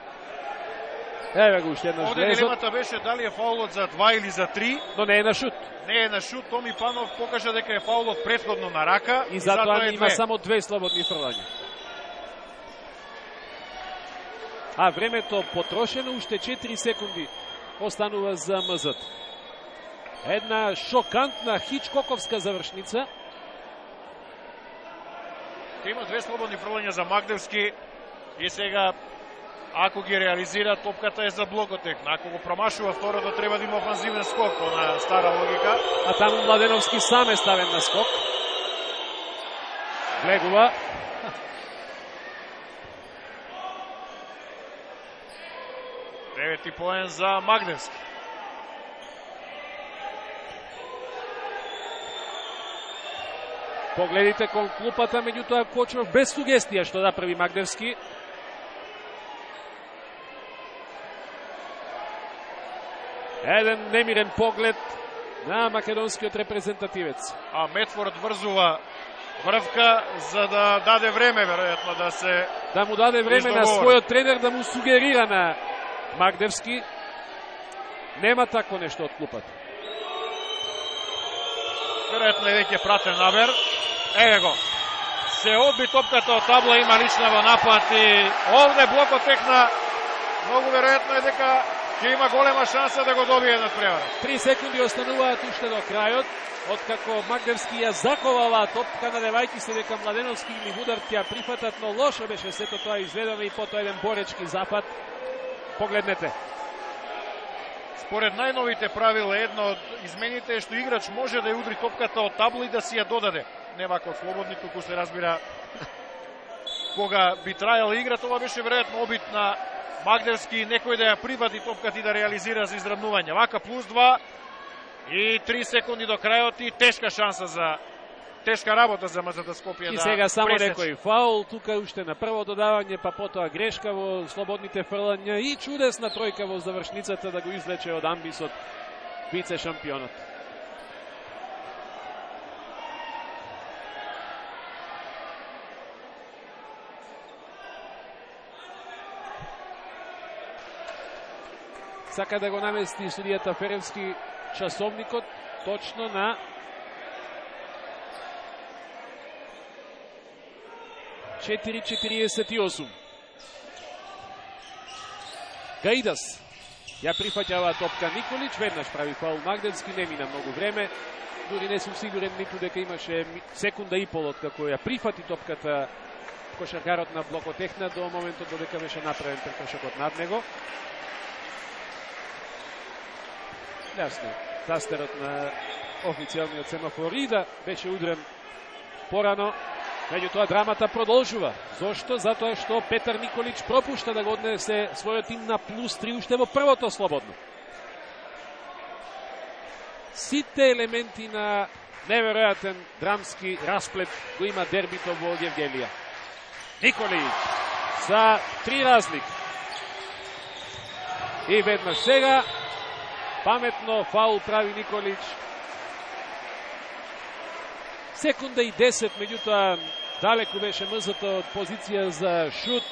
Еве го уште еднаш Оде влезот. дилемата беше дали е фаулот за два или за три. Но не е на шут. Не е на шут, Томи Панов покажа дека е фаулот претходно на рака. И затоа, затоа е има две. само две слободни фрлања. А времето потрошено, уште четири секунди останува за МЗ. Една шокантна хичкоковска завршница. Има две слободни фрлања за Магдевски и сега ако ги реализира, топката е за Блокотехна. Ако го промашува второто, треба да има офанзивен скок, на стара логика. А таму Младеновски сам е ставен на скок. Влегува. Девети поен за Магдевски. Погледите кон клупата, меѓутоа Кочев без сугестија што да прави Магдевски. Еден немирен поглед на македонскиот репрезентативец. А Медфорд врзува врвка за да даде време, веројатно, да се Да му даде време на својот тренер да му сугерира на Магдевски. Нема такво нешто од клупата. Веројатно е веќе пратен набер. Еве го. Се одби топката од табла, има лична во напад и овде Блокотехна многу веројатно е дека ќе има голема шанса да го добие на превара. Три секунди остануваат уште до крајот, откако Магдевски ја заковала топка, надевајќи се дека Младеновски или Вудард ќе ја прифатат, но лошо беше сето тоа изведено и потоа еден боречки запад. Погледнете. Според најновите правила, едно од измените е што играч може да ја удри топката од табла и да си ја додаде. Не вако слободни, туку се разбира кога би трајала игра, това беше веројатно обид на Магдевски, некој да ја прибади топката и да реализира за изравнување. Вака плюс два и три секунди до крајот и тешка шанса за тешка работа за МЗТ Скопје. И да сега само пресече. некој фаул, тука уште на прво додавање, па потоа грешка во слободните фрлања и чудесна тројка во завршницата да го извлече од амбисот вице шампионот. Сака да го намести судијата Феревски часовникот точно на четири четириесет и осум. Гаидас ја прифаќава топка Николич, веднаш прави фаул Магдевски, не мина многу време. Дури не сум сигурен ниту дека имаше секунда и пол од како ја прифати топката кошаркарот на Блокотехна до моментот додека беше направен прекршокот над него. Јасно, тастерот на официјалниот семафор и да беше удрен порано. Меѓутоа драмата продолжува. Зошто? Затоа што Петар Николич пропушта да го однесе својот тим на плюс три уште во првото слободно. Сите елементи на неверојатен драмски расплет го има дербито во Гевгелија. Николич за три разлик. И веднаш сега паметно фаул прави Николич. Секунда и десет, меѓутоа далеку беше мрзата од позиција за шут,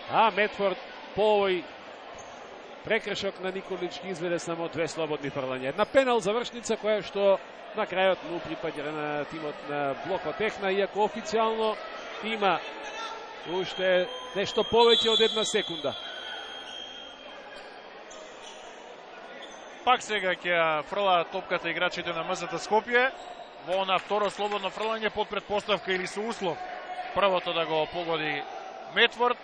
а Медфорд по овој прекршок на Николич ги изведе само две слободни фрлања. Една пенал завршница која што на крајот му припаѓа на тимот на Блоко Техна, иако официјално има уште нешто повеќе од една секунда. Пак сега ќе фрлаат топката играчите на МЗТ Скопје во на второ слободно фрлање под претпоставка или со услов првото да го погоди Медфорд.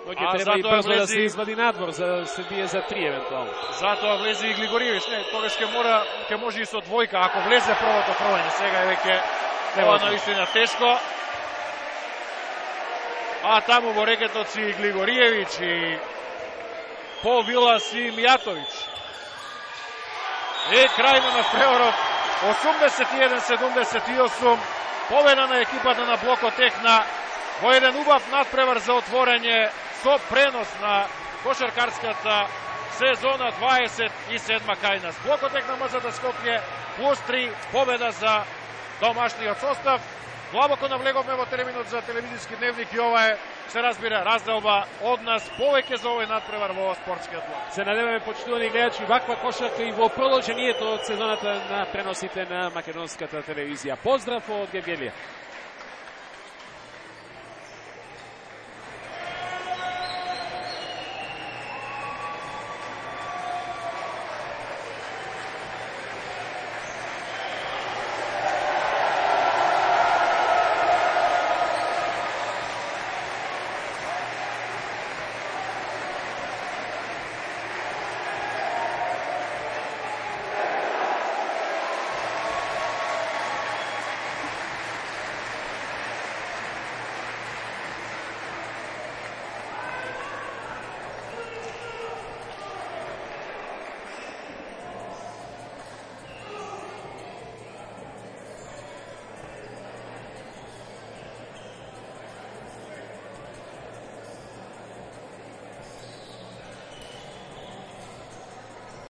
Но ќе треба и брзо влези... да се извади надвор за да се бие за три евентуално. Затоа влезе и Глигориевич. Не, тогаш ќе мора, ќе може и со двојка ако влезе првото фрлање. Сега е веќе ова навистина тешко. А таму во рекетот си Глигориевич и по Вилас и Мијатович. И крај на надпреварот осумдесет и еден седумдесет и осум. Победа на екипата на Блоко Техна во еден убав надпревар за отворање со пренос на кошаркарската сезона дваесет и седма кај нас. Блоко Техна МЗТ Скопје плюс три победа за домашниот состав. Длабоко навлеговме во терминот за телевизиски дневник и ова е, се разбира, разделба од нас повеќе за овој надпревар во спортскиот блок. Се надеваме, почитувани гледачи, ваква кошарка и во продолжението од сезоната на преносите на македонската телевизија. Поздрав од Гевгелија.